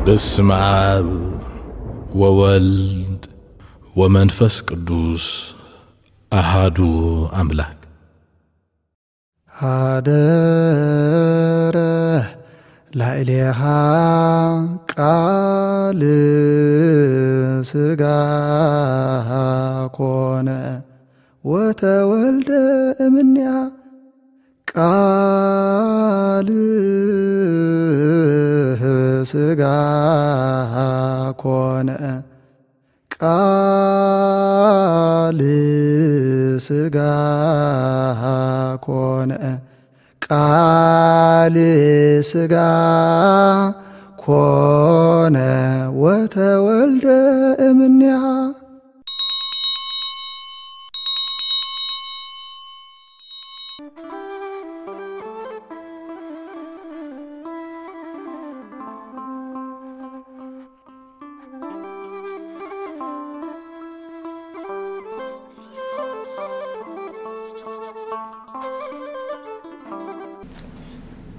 በስመ አብ ወወልድ ወመንፈስ ቅዱስ አሃዱ አምላክ። ሀደረ ላዕሌሃ ቃል ሥጋ ኮነ ወተወልደ እምኔሃ። ቃል ሥጋ ኮነ፣ ቃል ሥጋ ኮነ፣ ቃል ሥጋ ኮነ ወተወልደ እምኔሃ።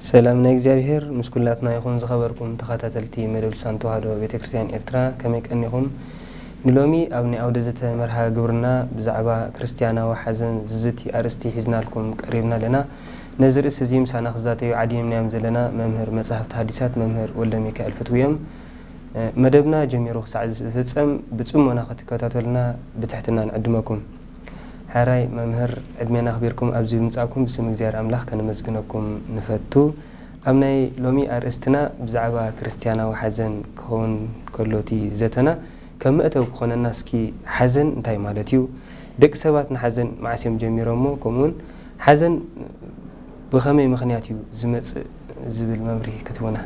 ሰላም ናይ እግዚኣብሔር ምስ ኩላትና ይኹን። ዝኸበርኩም ተኸታተልቲ መደብ ልሳን ተዋህዶ ቤተ ክርስቲያን ኤርትራ፣ ከመይ ቀኒኹም? ንሎሚ ኣብ ናይ ኣውደ ዘተ መርሃ ግብርና ብዛዕባ ክርስትያናዊ ሓዘን ዝዝቲ ኣርእስቲ ሒዝናልኩም ቀሪብና ኣለና። ነዚ ርእሲ እዚ ምሳና ክዛተዩ ዓዲምናዮም ዘለና መምህር መጻሕፍቲ ሓዲሳት መምህር ወልደ ሚካኤል ፍትዊ እዮም። መደብና ጀሚሩ ክሳዕ ዝፍጸም ብጽሞና ክትከታተሉና ብትሕትና ንዕድመኩም። ሕራይ መምህር፣ ዕድሜና ኣኽቢርኩም ኣብዚ ብምጻእኩም ብስም እግዚኣብሔር ኣምላኽ ከነመስግነኩም ንፈቱ። ኣብ ናይ ሎሚ ኣርእስትና ብዛዕባ ክርስትያናዊ ሓዘን ክኸውን ከሎ እቲ ዘተና፣ ከም መእተዊ ክኾነና እስኪ፣ ሓዘን እንታይ ማለት እዩ? ደቂ ሰባት ንሓዘን መዓስ እዮም ጀሚሮሞ? ከምኡውን ሓዘን ብኸመይ ምኽንያት እዩ ዝመጽእ ዝብል መብርሂ ክትህቡና።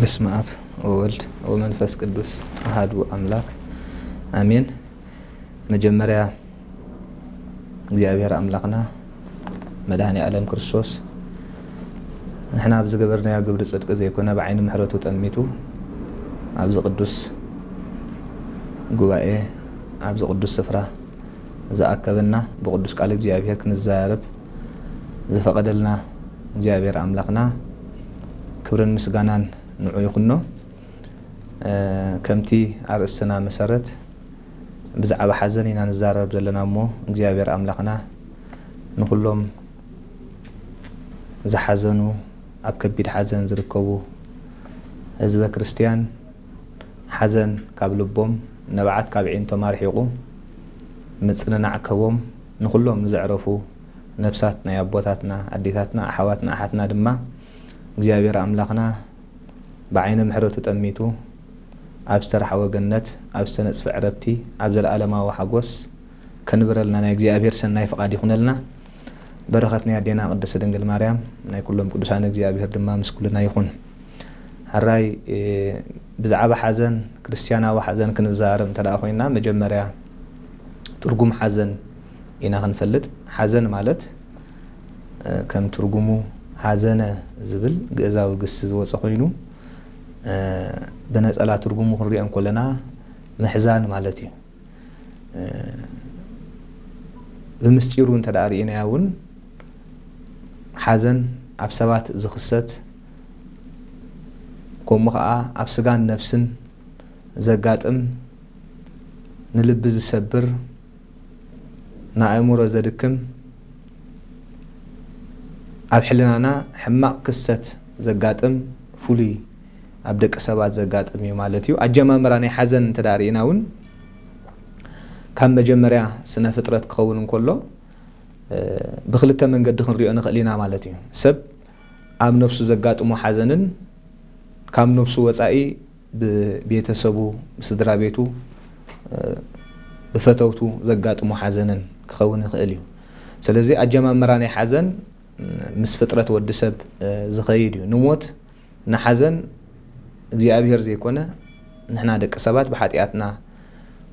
በስመ አብ ወወልድ ወመንፈስ ቅዱስ አሃዱ አምላክ አሜን። መጀመርያ እግዚኣብሔር ኣምላኽና መድኃኔ ዓለም ክርስቶስ ንሕና ኣብ ዝገበርናዮ ግብሪ ጽድቂ ዘይኮነ ብዓይኒ ምሕረቱ ጠሚቱ ኣብዚ ቅዱስ ጉባኤ፣ ኣብዚ ቅዱስ ስፍራ ዝኣከበና፣ ብቅዱስ ቃል እግዚኣብሔር ክንዘራረብ ዝፈቐደልና እግዚኣብሔር ኣምላኽና ክብርን ምስጋናን ንዑ ይኹኖ። እ፣ ከምቲ ኣርእስትና መሰረት ብዛዕባ ሓዘን ኢና ንዛረብ ዘለና እሞ እግዚኣብሔር ኣምላኽና ንኹሎም ዝሓዘኑ፣ ኣብ ከቢድ ሓዘን ዝርከቡ ህዝበ ክርስትያን፣ ሓዘን ካብ ልቦም፣ ንብዓት ካብ ኣዒንቶም ኣርሒቑ፣ ምጽንናዕ ከቦም፣ ንኹሎም ንዘዕረፉ ነፍሳት ናይ ኣቦታትና፣ ኣዴታትና፣ ኣሓዋትና፣ ኣሓትና ድማ እግዚኣብሔር ኣምላኽና ብዓይነ ምሕረቱ ጠሚቱ ኣብ ዝተራሕወ ገነት፣ ኣብ ዝተነጽፈ ዕረፍቲ፣ ኣብ ዘለኣለማዊ ሓጎስ ከንብረልና ናይ እግዚኣብሔር ሰናይ ፍቓድ ይኹነልና። በረኸት ናይ ኣዴና ቅድስት ድንግል ማርያም፣ ናይ ኩሎም ቅዱሳን እግዚኣብሔር ድማ ምስ ኩልና ይኹን። ሕራይ፣ እ፣ ብዛዕባ ሓዘን፣ ክርስትያናዊ ሓዘን ክንዛረብ እንተ ደኣ ኮይንና፣ መጀመርያ ትርጉም ሓዘን ኢና ክንፈልጥ። ሓዘን ማለት፣ እ፣ ከም ትርጉሙ ሓዘነ ዝብል ግእዛዊ ግሲ ዝወጸ ኮይኑ፣ እ፣ ብነጸላ ትርጉሙ ክንሪኦ እንከለና ምሕዛን ማለት እዩ። እ፣ ብምስጢሩ እንተ ደኣ ርኢናዮ እውን ሓዘን ኣብ ሰባት ዝኽሰት፣ ከምኡ ኸዓ ኣብ ስጋን ነፍስን ዘጋጥም፣ ንልቢ ዝሰብር፣ ንኣእምሮ ዘድክም፣ ኣብ ሕልናና ሕማቕ ክስተት ዘጋጥም፣ ፍሉይ ኣብ ደቂ ሰባት ዘጋጥም እዩ ማለት እዩ። ኣጀማምራ ናይ ሓዘን እንተ ደኣ ርኢና እውን ካብ መጀመርያ ስነ ፍጥረት ክኸውን እንከሎ፣ እ፣ ብኽልተ መንገዲ ክንሪኦ ንኽእል ኢና ማለት እዩ። ሰብ ኣብ ነፍሱ ዘጋጥሞ ሓዘንን ካብ ነፍሱ ወጻኢ ብቤተሰቡ፣ ብስድራ ቤቱ፣ እ፣ ብፈተውቱ ዘጋጥሞ ሓዘንን ክኸውን ይኽእል እዩ። ስለዚ ኣጀማምራ ናይ ሓዘን፣ እ፣ ምስ ፍጥረት ወዲ ሰብ፣ እ፣ ዝኸይድ እዩ። ንሞት፣ ንሓዘን እግዚኣብሔር ዘይኮነ ንሕና ደቂ ሰባት ብሓጢኣትና፣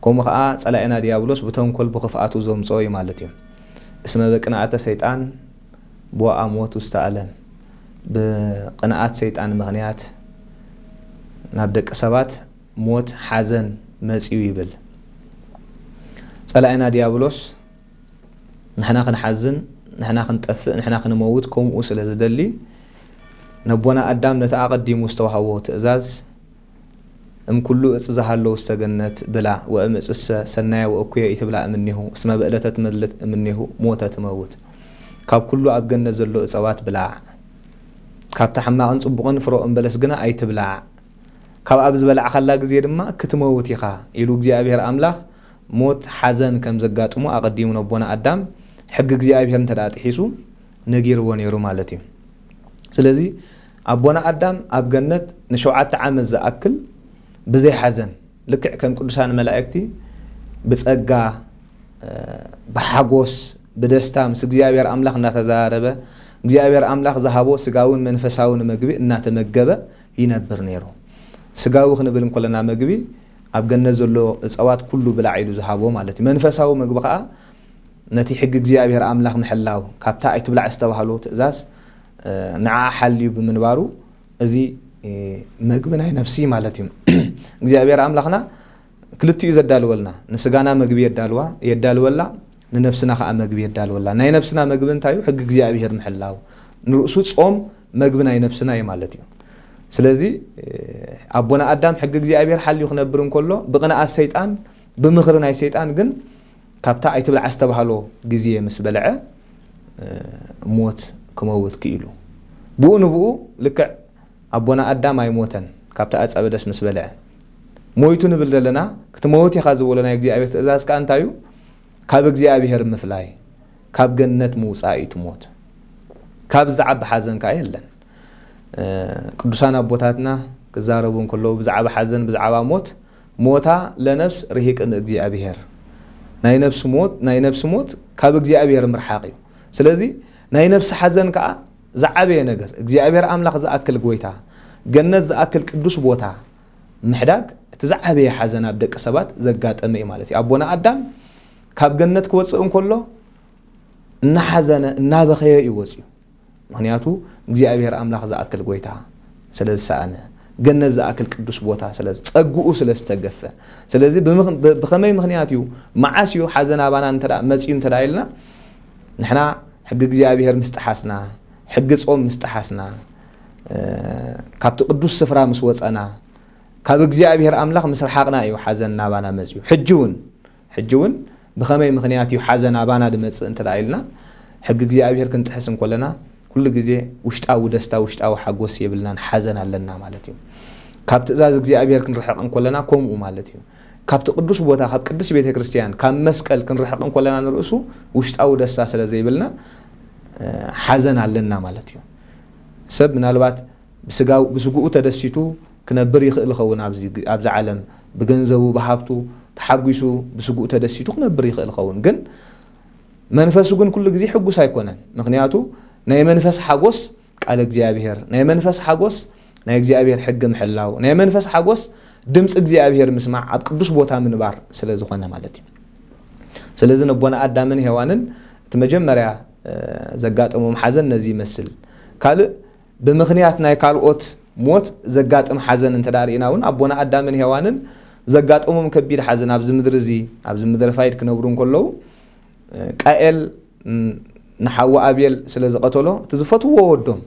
ከምኡ ኸዓ ጸላኢና ዲያብሎስ ብተንኮል ብኽፍኣቱ ዘምጽኦ እዩ ማለት እዩ። እስመ በቅንኣተ ሰይጣን ቦአ ሞት ውስተ ዓለም፣ ብቕንኣት ሰይጣን ምኽንያት ናብ ደቂ ሰባት ሞት፣ ሓዘን መጺኡ ይብል። ጸላኢና ዲያብሎስ ንሕና ክንሓዝን፣ ንሕና ክንጠፍእ፣ ንሕና ክንመውት ከምኡ ስለ ዝደሊ፣ ነቦና ኣዳም ነቲ ኣቐዲሙ ዝተዋህቦ ትእዛዝ እም ኩሉ እጽ ዝሃሎ ውስተ ገነት ብላዕ፣ ወእም እጽሰ ሰናየ ወእኩየ ኢትብላዕ እምኔሁ፣ እስመ በእለተ ትመልት እምኔሁ ሞተ ትመውት። ካብ ኩሉ ኣብ ገነት ዘሎ እጸዋት ብላዕ፣ ካብቲ ሕማቕን ጽቡቕን ፍረ ኦም በለስ ግና ኣይትብላዕ፣ ካብ ኣብ ዝበላዕኻላ ግዜ ድማ ክትመውት ኢኻ ኢሉ እግዚኣብሔር ኣምላኽ ሞት ሓዘን ከም ዘጋጥሞ ኣቐዲሙ ነቦና ኣዳም ሕጊ እግዚኣብሔር እንተ ደኣ ጥሒሱ ነጊርዎ ነይሩ ማለት እዩ። ስለዚ ኣቦና ኣዳም ኣብ ገነት ንሸውዓተ ዓመት ዝኣክል ብዘይ ሓዘን ልክዕ ከም ቅዱሳን መላእክቲ ብጸጋ፣ ብሓጎስ፣ ብደስታ ምስ እግዚኣብሔር ኣምላኽ እናተዘራረበ፣ እግዚኣብሔር ኣምላኽ ዝሃቦ ስጋውን መንፈሳውን መግቢ እናተመገበ ይነብር ነይሩ። ስጋዊ ክንብል እንኮለና መግቢ ኣብ ገነት ዘሎ እጸዋት ኩሉ ብላዕ ኢሉ ዝሃቦ ማለት እዩ። መንፈሳዊ መግቢ ከኣ ነቲ ሕጊ እግዚኣብሔር ኣምላኽ ምሕላው፣ ካብታ ኣይትብላዕ ዝተባህሎ ትእዛዝ ንዓ ሓልዩ ብምንባሩ፣ እዚ መግቢ ናይ ነፍሲ ማለት እዩ። እግዚኣብሔር ኣምላኽና ክልቲኡ ዘዳልወልና፣ ንስጋና መግቢ የዳልዋ የዳልወላ፣ ንነፍስና ከዓ መግቢ የዳልወላ። ናይ ነፍስና መግቢ እንታይ እዩ? ሕጊ እግዚኣብሔር ምሕላው፣ ንርእሱ ጾም መግቢ ናይ ነፍስና እዩ ማለት እዩ። ስለዚ ኣቦና ኣዳም ሕጊ እግዚኣብሔር ሓልዩ ክነብር እንከሎ ብቕንኣት ሰይጣን፣ ብምኽሪ ናይ ሰይጣን ግን ካብታ ኣይትብላዕ ዝተባህሎ ግዜ ምስ በልዐ ሞት ክመውት ክኢሉ። ብኡ ንብኡ ልክዕ ኣቦና ኣዳም ኣይሞተን፣ ካብቲ ኣጸበደስ ምስ በልዐ። ሞይቱ ንብል ዘለና፣ ክትመውት ኢኻ ዝበሎ ናይ እግዚኣብሔር ትእዛዝ ከኣ እንታይ እዩ? ካብ እግዚኣብሔር ምፍላይ፣ ካብ ገነት ምውጻእ እዩ እቲ ሞት። ካብ ዝዓቢ ሓዘን ከኣ የለን። ቅዱሳን ኣቦታትና ክዛረቡ እንከለዉ ብዛዕባ ሓዘን፣ ብዛዕባ ሞት፣ ሞታ ለነፍስ ርሂቅ እምእግዚኣብሔር፣ ናይ ነፍሲ ሞት፣ ናይ ነፍሲ ሞት ካብ እግዚኣብሔር ምርሓቕ እዩ። ስለዚ ናይ ነፍሲ ሓዘን ከኣ ዝዓበየ ነገር እግዚኣብሔር ኣምላኽ ዝኣክል ጎይታ፣ ገነት ዝኣክል ቅዱስ ቦታ ምሕዳግ እቲ ዝዓበየ ሓዘን ኣብ ደቂ ሰባት ዘጋጠመ እዩ ማለት እዩ። ኣቦና ኣዳም ካብ ገነት ክወፅእ እንከሎ እናሓዘነ እናበኸየ እዩ ወፅዩ። ምኽንያቱ እግዚኣብሔር ኣምላኽ ዝኣክል ጎይታ ስለ ዝሰኣነ፣ ገነት ዝኣክል ቅዱስ ቦታ ስለ ዝጸግኡ ስለ ዝተገፈ። ስለዚ ብምኽ- ብ- ብኸመይ ምኽንያት እዩ፣ መዓስ እዩ ሓዘን ኣባና እንተ ደኣ መጺኡ እንተ ደኣ ኢልና፣ ንሕና ሕጊ እግዚኣብሔር ምስ ጠሓስና፣ ሕጊ ጾም ምስ ጠሓስና፣ እ፣ ካብቲ ቅዱስ ስፍራ ምስ ወጸና፣ ካብ እግዚኣብሔር ኣምላኽ ምስ ረሓቕና እዩ ሓዘን ናባና መጺኡ። ሕጂ እውን ሕጂ እውን ብኸመይ ምኽንያት እዩ ሓዘን ኣባና ድመጽእ እንተ ደኣ ኢልና፣ ሕጊ እግዚኣብሔር ክንጥሕስ እንኮለና፣ ኩሉ ግዜ ውሽጣዊ ደስታ፣ ውሽጣዊ ሓጎስ የብልናን፣ ሓዘን ኣለና ማለት እዩ። ካብ ትእዛዝ እግዚኣብሔር ክንርሕቕ እንኮለና ከምኡ ማለት እዩ። ካብቲ ቅዱስ ቦታ፣ ካብ ቅድስት ቤተ ክርስቲያን፣ ካብ መስቀል ክንርሕቕ እንኮለና ንርእሱ ውሽጣዊ ደስታ ስለ ዘይብልና፣ እ፣ ሓዘን ኣለና ማለት እዩ። ሰብ ምናልባት ብስጋው-፣ ብስግኡ ተደሲቱ ክነብር ይኽእል ይኸውን። ኣብዚ ግ-፣ ኣብዚ ዓለም ብገንዘቡ፣ ብሃብቱ ተሓጒሱ፣ ብስግኡ ተደሲቱ ክነብር ይኽእል ይኸውን። ግን መንፈሱ ግን ኩሉ ግዜ ሕጉስ ኣይኮነን። ምኽንያቱ ናይ መንፈስ ሓጎስ ቃል እግዚኣብሔር፣ ናይ መንፈስ ሓጎስ ናይ እግዚኣብሔር ሕጊ ምሕላው፣ ናይ መንፈስ ሓጎስ ድምፂ እግዚኣብሔር ምስማዕ፣ ኣብ ቅዱስ ቦታ ምንባር ስለ ዝኾነ ማለት እዩ። ስለዚ ነቦና ኣዳምን ሄዋንን እቲ መጀመርያ፣ እ፣ ዘጋጠሞም ሓዘን ነዚ ይመስል። ካልእ ብምኽንያት ናይ ካልኦት ሞት ዘጋጥም ሓዘን እንተ ደኣ ርኢና እውን፣ ኣቦና ኣዳምን ሄዋንን ዘጋጠሞም ከቢድ ሓዘን ኣብዚ ምድሪ እዚ፣ ኣብዚ ምድሪ ፋይድ ክነብሩ እንከለዉ፣ ቃኤል ን-፣ ንሓዋ ኣቤል ስለ ዝቐተሎ፣ እቲ ዝፈትዎ ወዶም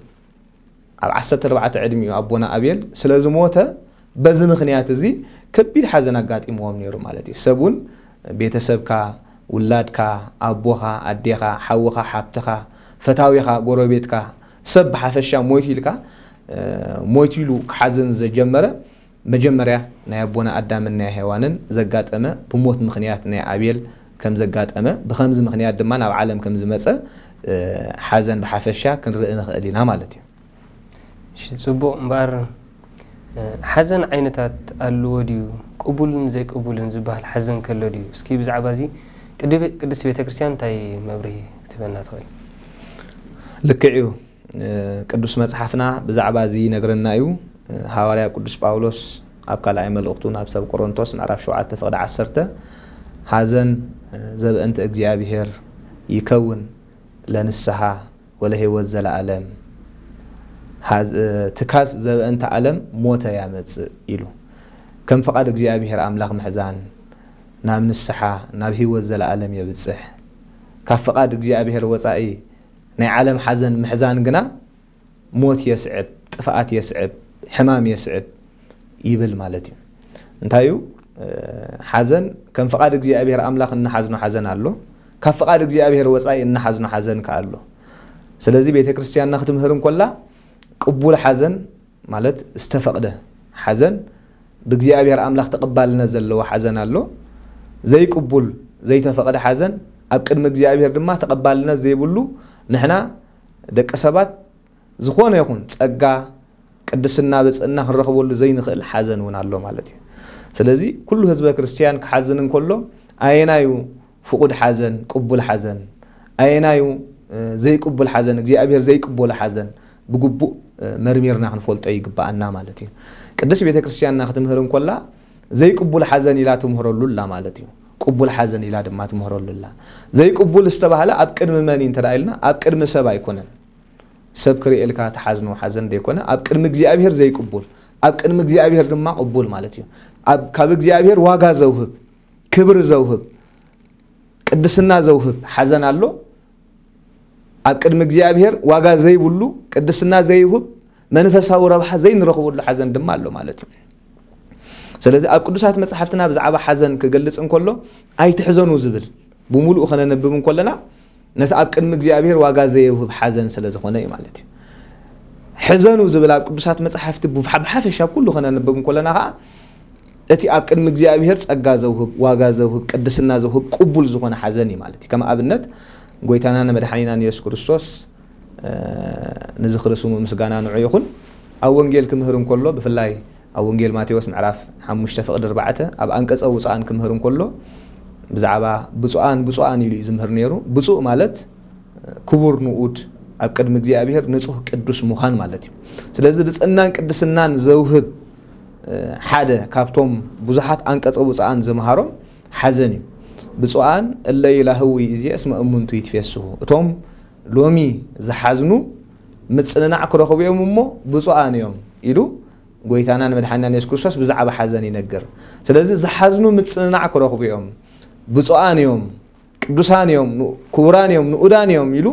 ኣብ ዓሰርተ ኣርባዕተ ዕድሚኡ ኣቦና ኣቤል ስለ ዝሞተ፣ በዚ ምኽንያት እዚ ከቢድ ሓዘን ኣጋጢምዎም ነይሩ ማለት እዩ። ሰብ እውን ቤተሰብካ፣ ውላድካ፣ ኣቦኻ፣ ኣዴኻ፣ ሓውኻ፣ ሓብትኻ፣ ፈታዊኻ፣ ጎረቤትካ፣ ሰብ ብሓፈሻ ሞይቱ ኢልካ፣ እ፣ ሞይቱ ኢሉ ክሓዝን ዘጀመረ መጀመርያ ናይ ኣቦና ኣዳምን ናይ ሄዋንን ዘጋጠመ ብሞት ምኽንያት ናይ ኣቤል ከም ዘጋጠመ፣ ብኸምዚ ምኽንያት ድማ ናብ ዓለም ከም ዝመጸ፣ እ፣ ሓዘን ብሓፈሻ ክንርኢ ንኽእል ኢና ማለት እዩ። እሺ፣ ጽቡቕ። እምበኣር፣ እ፣ ሓዘን ዓይነታት ኣለዎ ድዩ? ቅቡልን ዘይቅቡልን ዝበሃል ሓዘን ከሎ ድዩ? እስኪ ብዛዕባ እዚ ቅድ-፣ ቅድስት ቤተ ክርስቲያን እንታይ መብርሂ ክትህበና ትኽእል? ልክዕ እዩ። እ፣ ቅዱስ መጽሓፍና ብዛዕባ እዚ ይነግረና እዩ። እ፣ ሃዋርያ ቅዱስ ጳውሎስ ኣብ ካልኣይ መልእኽቱ ናብ ሰብ ቆሮንቶስ ምዕራፍ ሸውዓተ ፍቕዲ ዓሰርተ፣ "ሓዘን፣ እ፣ ዘበእንተ እግዚኣብሔር ይከውን ለንስሓ ወለህይወት ዘለዓለም። ሓዝ-፣ እ፣ ትካዝ ዘበእንተ ዓለም ሞተ ያመጽእ" ኢሉ። ከም ፍቓድ እግዚኣብሔር ኣምላኽ ምሕዛን ናብ ንስሓ፣ ናብ ህይወት ዘለዓለም የብጽሕ። ካብ ፍቓድ እግዚኣብሔር ወጻኢ ናይ ዓለም ሓዘን ምሕዛን ግና ሞት የስዕብ፣ ጥፍኣት የስዕብ፣ ሕማም የስዕብ ይብል ማለት እዩ። እንታይ እዩ? ሓዘን ከም ፍቓድ እግዚኣብሔር ኣምላኽ እንሓዝኖ ሓዘን ኣሎ፣ ካብ ፍቓድ እግዚኣብሔር ወፃኢ እንሓዝኖ ሓዘን ከ ኣሎ። ስለዚ ቤተ ክርስቲያንና ክትምህር እንኮላ ቅቡል ሓዘን ማለት ዝተፈቕደ ሓዘን ብእግዚኣብሔር ኣምላኽ ተቐባልነት ዘለዎ ሓዘን ኣሎ። ዘይቅቡል ዘይተፈቕደ ሓዘን ኣብ ቅድሚ እግዚኣብሔር ድማ ተቐባልነት ዘይብሉ ንሕና ደቂ ሰባት ዝኾነ ይኹን ጸጋ ቅድስና ብጽእና ክንረኽበሉ ዘይንኽእል ሓዘን እውን ኣሎ ማለት እዩ። ስለዚ ኩሉ ህዝበ ክርስትያን ክሓዝን እንከሎ ኣየናዩ ፍቑድ ሓዘን፣ ቅቡል ሓዘን፣ ኣየናዩ ዘይቅቡል ሓዘን፣ እግዚኣብሔር ዘይቅበሎ ሓዘን ብግቡእ መርሚርና ክንፈልጦ ይግብኣና ማለት እዩ። ቅድስት ቤተ ክርስትያንና ክትምህር እንኮላ ዘይቅቡል ሓዘን ኢላ ትምህረሉ ኣላ ማለት እዩ። ቅቡል ሓዘን ኢላ ድማ ትምህረሉ ኣላ። ዘይቅቡል ዝተባህለ ኣብ ቅድሚ መን እዩ እንተ ኢልና ኣብ ቅድሚ ሰብ ኣይኮነን። ሰብ ክርእየልካ ትሓዝኖ ሓዘን ዘይኮነ ኣብ ቅድሚ እግዚኣብሔር ዘይቅቡል፣ ኣብ ቅድሚ እግዚኣብሔር ድማ ቅቡል ማለት እዩ። ካብ እግዚኣብሔር ዋጋ ዘውህብ፣ ክብሪ ዘውህብ፣ ቅድስና ዘውህብ ሓዘን ኣሎ። ኣብ ቅድሚ እግዚኣብሔር ዋጋ ዘይብሉ፣ ቅድስና ዘይውህብ፣ መንፈሳዊ ረብሓ ዘይንረኽበሉ ሓዘን ድማ ኣሎ ማለት እዩ። ስለዚ ኣብ ቅዱሳት መጽሓፍትና ብዛዕባ ሓዘን ክገልጽ እንከሎ ኣይትሕዘኑ ዝብል ብምሉኡ ከነንብብ እንከለና ነቲ ኣብ ቅድሚ እግዚኣብሔር ዋጋ ዘየውህብ ሓዘን ስለ ዝኾነ እዩ ማለት እዩ። ሕዘኑ ዝብል ኣብ ቅዱሳት መጽሓፍቲ ብሓፈሻ ኩሉ ከነንብብ እንከለና ከዓ እቲ ኣብ ቅድሚ እግዚኣብሔር ጸጋ ዘውህብ፣ ዋጋ ዘውህብ፣ ቅድስና ዘውህብ ቅቡል ዝኾነ ሓዘን እዩ ማለት እዩ። ከም ኣብነት ጎይታና ንመድሓኒና ንየሱስ ክርስቶስ ንዝኽሪ ስሙ ምስጋና ንዑ ይኹን ኣብ ወንጌል ክምህር እንከሎ ብፍላይ ኣብ ወንጌል ማቴዎስ ምዕራፍ ሓሙሽተ ፍቕዲ ኣርባዕተ ኣብ ኣንቀጸ ውፅኣን ክምህር እንከሎ ብዛዕባ ብፁዓን ብፁዓን ኢሉ እዩ ዝምህር ነይሩ። ብፁዕ ማለት ክቡር ንኡድ ኣብ ቅድሚ እግዚኣብሔር ንጹህ ቅዱስ ምዃን ማለት እዩ። ስለዚ ብፅእናን ቅድስናን ዘውህብ ሓደ ካብቶም ብዙሓት ኣንቀጸ ውፅኣን ዝምሃሮም ሓዘን እዩ። ብፁዓን እለ ይላህዊ እዚ እስመ እሙንቱ ይትፌስሁ፣ እቶም ሎሚ ዝሓዝኑ ምጽንናዕ ክረኽቡ እዮም እሞ ብፁዓን እዮም ኢሉ ጎይታና ንመድሓኒና ንየሱስ ክርስቶስ ብዛዕባ ሓዘን ይነግር። ስለዚ ዝሓዝኑ ምጽንናዕ ክረኽቡ እዮም፣ ብፁዓን እዮም፣ ቅዱሳን እዮም፣ ክቡራን እዮም፣ ንኡዳን እዮም ኢሉ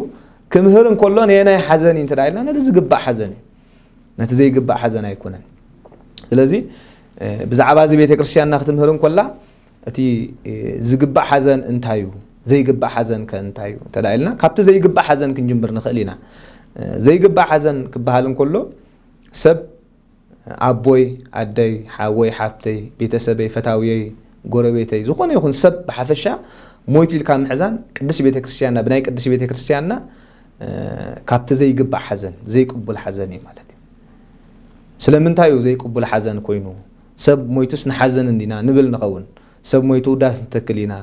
ክምህር እንከሎ ነየናይ ሓዘን እዩ እንተ ኢልና ነቲ ዝግባእ ሓዘን እዩ። ነቲ ዘይግባእ ሓዘን ኣይኮነን። ስለዚ ብዛዕባ እዚ ቤተ ክርስቲያንና ክትምህር እንከላ እቲ ዝግባእ ሓዘን እንታይ እዩ፣ ዘይግባእ ሓዘን ከ እንታይ እዩ እንተ ኢልና ካብቲ ዘይግባእ ሓዘን ክንጅምር ንኽእል ኢና። ዘይግባእ ሓዘን ክበሃል እንከሎ ሰብ ኣቦይ፣ ኣደይ፣ ሓወይ፣ ሓብተይ፣ ቤተሰበይ፣ ፈታውየይ፣ ጎረቤተይ፣ ዝኾነ ይኹን ሰብ ብሓፈሻ ሞይቱ ኢልካ ምሕዛን ቅድስት ቤተ ክርስቲያንና ብናይ ቅድስት ቤተ ክርስቲያንና ካብቲ ዘይግባእ ሓዘን ዘይቅቡል ሓዘን እዩ ማለት እዩ። ስለምንታይ እዩ ዘይቅቡል ሓዘን ኮይኑ? ሰብ ሞይቱስ ንሓዘን እንዲና ንብል ንኸውን። ሰብ ሞይቱ ዳስ ንተክል ኢና፣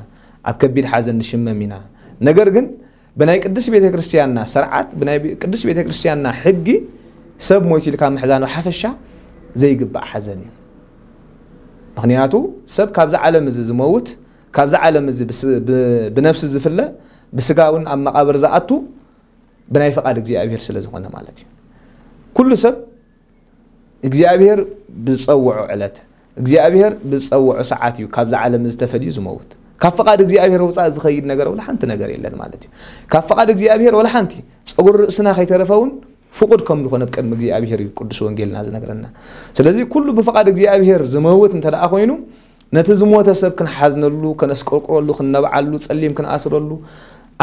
ኣብ ከቢድ ሓዘን ንሽመም ኢና። ነገር ግን ብናይ ቅድስት ቤተ ክርስቲያንና ስርዓት፣ ብናይ ቅድስት ቤተ ክርስቲያንና ሕጊ ሰብ ሞይቱ ኢልካ ምሕዛን ብሓፈሻ ዘይግባእ ሓዘን እዩ። ምኽንያቱ ሰብ ካብዚ ዓለም እዚ ዝመውት፣ ካብዚ ዓለም እዚ ብነፍሲ ዝፍለ፣ ብስጋ እውን ኣብ መቓብር ዝኣቱ ብናይ ፍቓድ እግዚኣብሔር ስለ ዝኾነ ማለት እዩ። ኩሉ ሰብ እግዚኣብሔር ብዝፀውዖ ዕለት፣ እግዚኣብሔር ብዝፀውዖ ሰዓት እዩ ካብዚ ዓለም እዚ ተፈልዩ ዝመውት። ካብ ፍቓድ እግዚኣብሔር ወፃኢ ዝኸይድ ነገር ወላ ሓንቲ ነገር የለን ማለት እዩ። ካብ ፍቓድ እግዚኣብሔር ወላ ሓንቲ ፀጉሪ ርእስና ከይተረፈ እውን ፍቑድ ከም ዝኾነ ብቅድሚ እግዚኣብሔር እዩ ቅዱስ ወንጌልና ዝነግረና። ስለዚ ኩሉ ብፍቓድ እግዚኣብሔር ዝመውት እንተ ደኣ ኮይኑ ነቲ ዝሞተ ሰብ ክንሓዝነሉ፣ ከነስቆርቁረሉ፣ ክንነብዓሉ፣ ጸሊም ክንኣስረሉ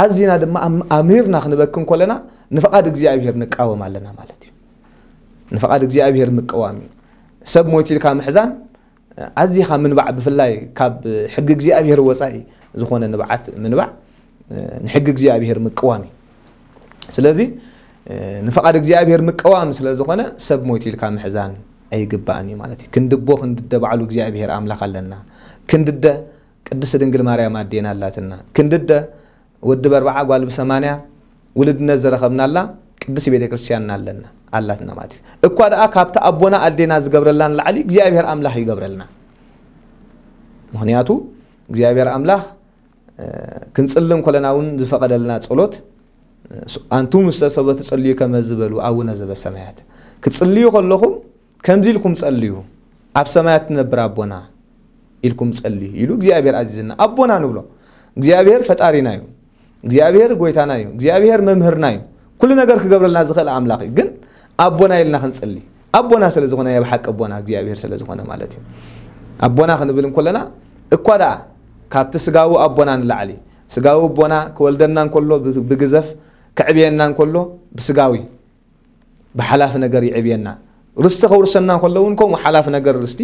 ኣዚና ድማ ኣም- ኣምሪርና ክንበኪ እንኮለና ንፍቓድ እግዚኣብሔር ንቃወም ኣለና ማለት እዩ። ንፍቓድ እግዚኣብሔር ምቅዋም እዩ። ሰብ ሞይቱ ኢልካ ምሕዛን ኣዚኻ ምንባዕ ብፍላይ ካብ ሕጊ እግዚኣብሔር ወጻኢ ዝኾነ ንብዓት ምንባዕ ንሕጊ እግዚኣብሔር ምቅዋም እዩ። ስለዚ ንፍቓድ እግዚኣብሔር ምቅዋም ስለ ዝኾነ ሰብ ሞይቱ ኢልካ ምሕዛን ኣይግባእን እዩ ማለት እዩ። ክንድቦ ክንድደ ባዕሉ እግዚኣብሔር ኣምላኽ ኣለና። ክንድደ ቅድስት ድንግል ማርያም ኣዴና ኣላትና። ክንድደ ወዲ በርባዓ ጓል ብሰማንያ ውልድነት ዝረኸብናላ ቅድስት ቤተ ክርስቲያንና ኣለና ኣላትና ማለት እዩ። እኳ ደኣ ካብቲ ኣቦና ኣዴና ዝገብረልና ንላዕሊ እግዚኣብሔር ኣምላኽ ይገብረልና። ምኽንያቱ እግዚኣብሔር ኣምላኽ ክንጽሊ እንኮለና እውን ዝፈቐደልና ጸሎት ኣንቱም ውስተ ሰቦ ትጽልዩ ከመ ዝበሉ ኣቡነ ዘበሰማያት ክትጽልዩ ከለኹም ከምዚ ኢልኩም ጸልዩ፣ ኣብ ሰማያት ትነብር ኣቦና ኢልኩም ጸልዩ ኢሉ እግዚኣብሔር ኣዚዝና። ኣቦና ንብሎ። እግዚኣብሔር ፈጣሪና እዩ። እግዚኣብሔር ጎይታና እዩ። እግዚኣብሔር መምህርና እዩ። ኩሉ ነገር ክገብረልና ዝኽእል ኣምላኽ እዩ። ግን ኣቦና ኢልና ክንጽሊ ኣቦና ስለ ዝኾነ ናይ ብሓቂ ኣቦና እግዚኣብሔር ስለ ዝኾነ ማለት እዩ። ኣቦና ክንብል እንኮለና እኳ ደኣ ካብቲ ስጋዊ ኣቦና ንላዕሊ፣ ስጋዊ ኣቦና ክወልደና እንከሎ ብ-፣ ብግዘፍ፣ ከዕብየና እንከሎ ብስጋዊ ብሓላፊ ነገር ይዕብየና። ርስቲ ከውርሰና እንከሎ እውን ከምኡ ሓላፊ ነገር ርስቲ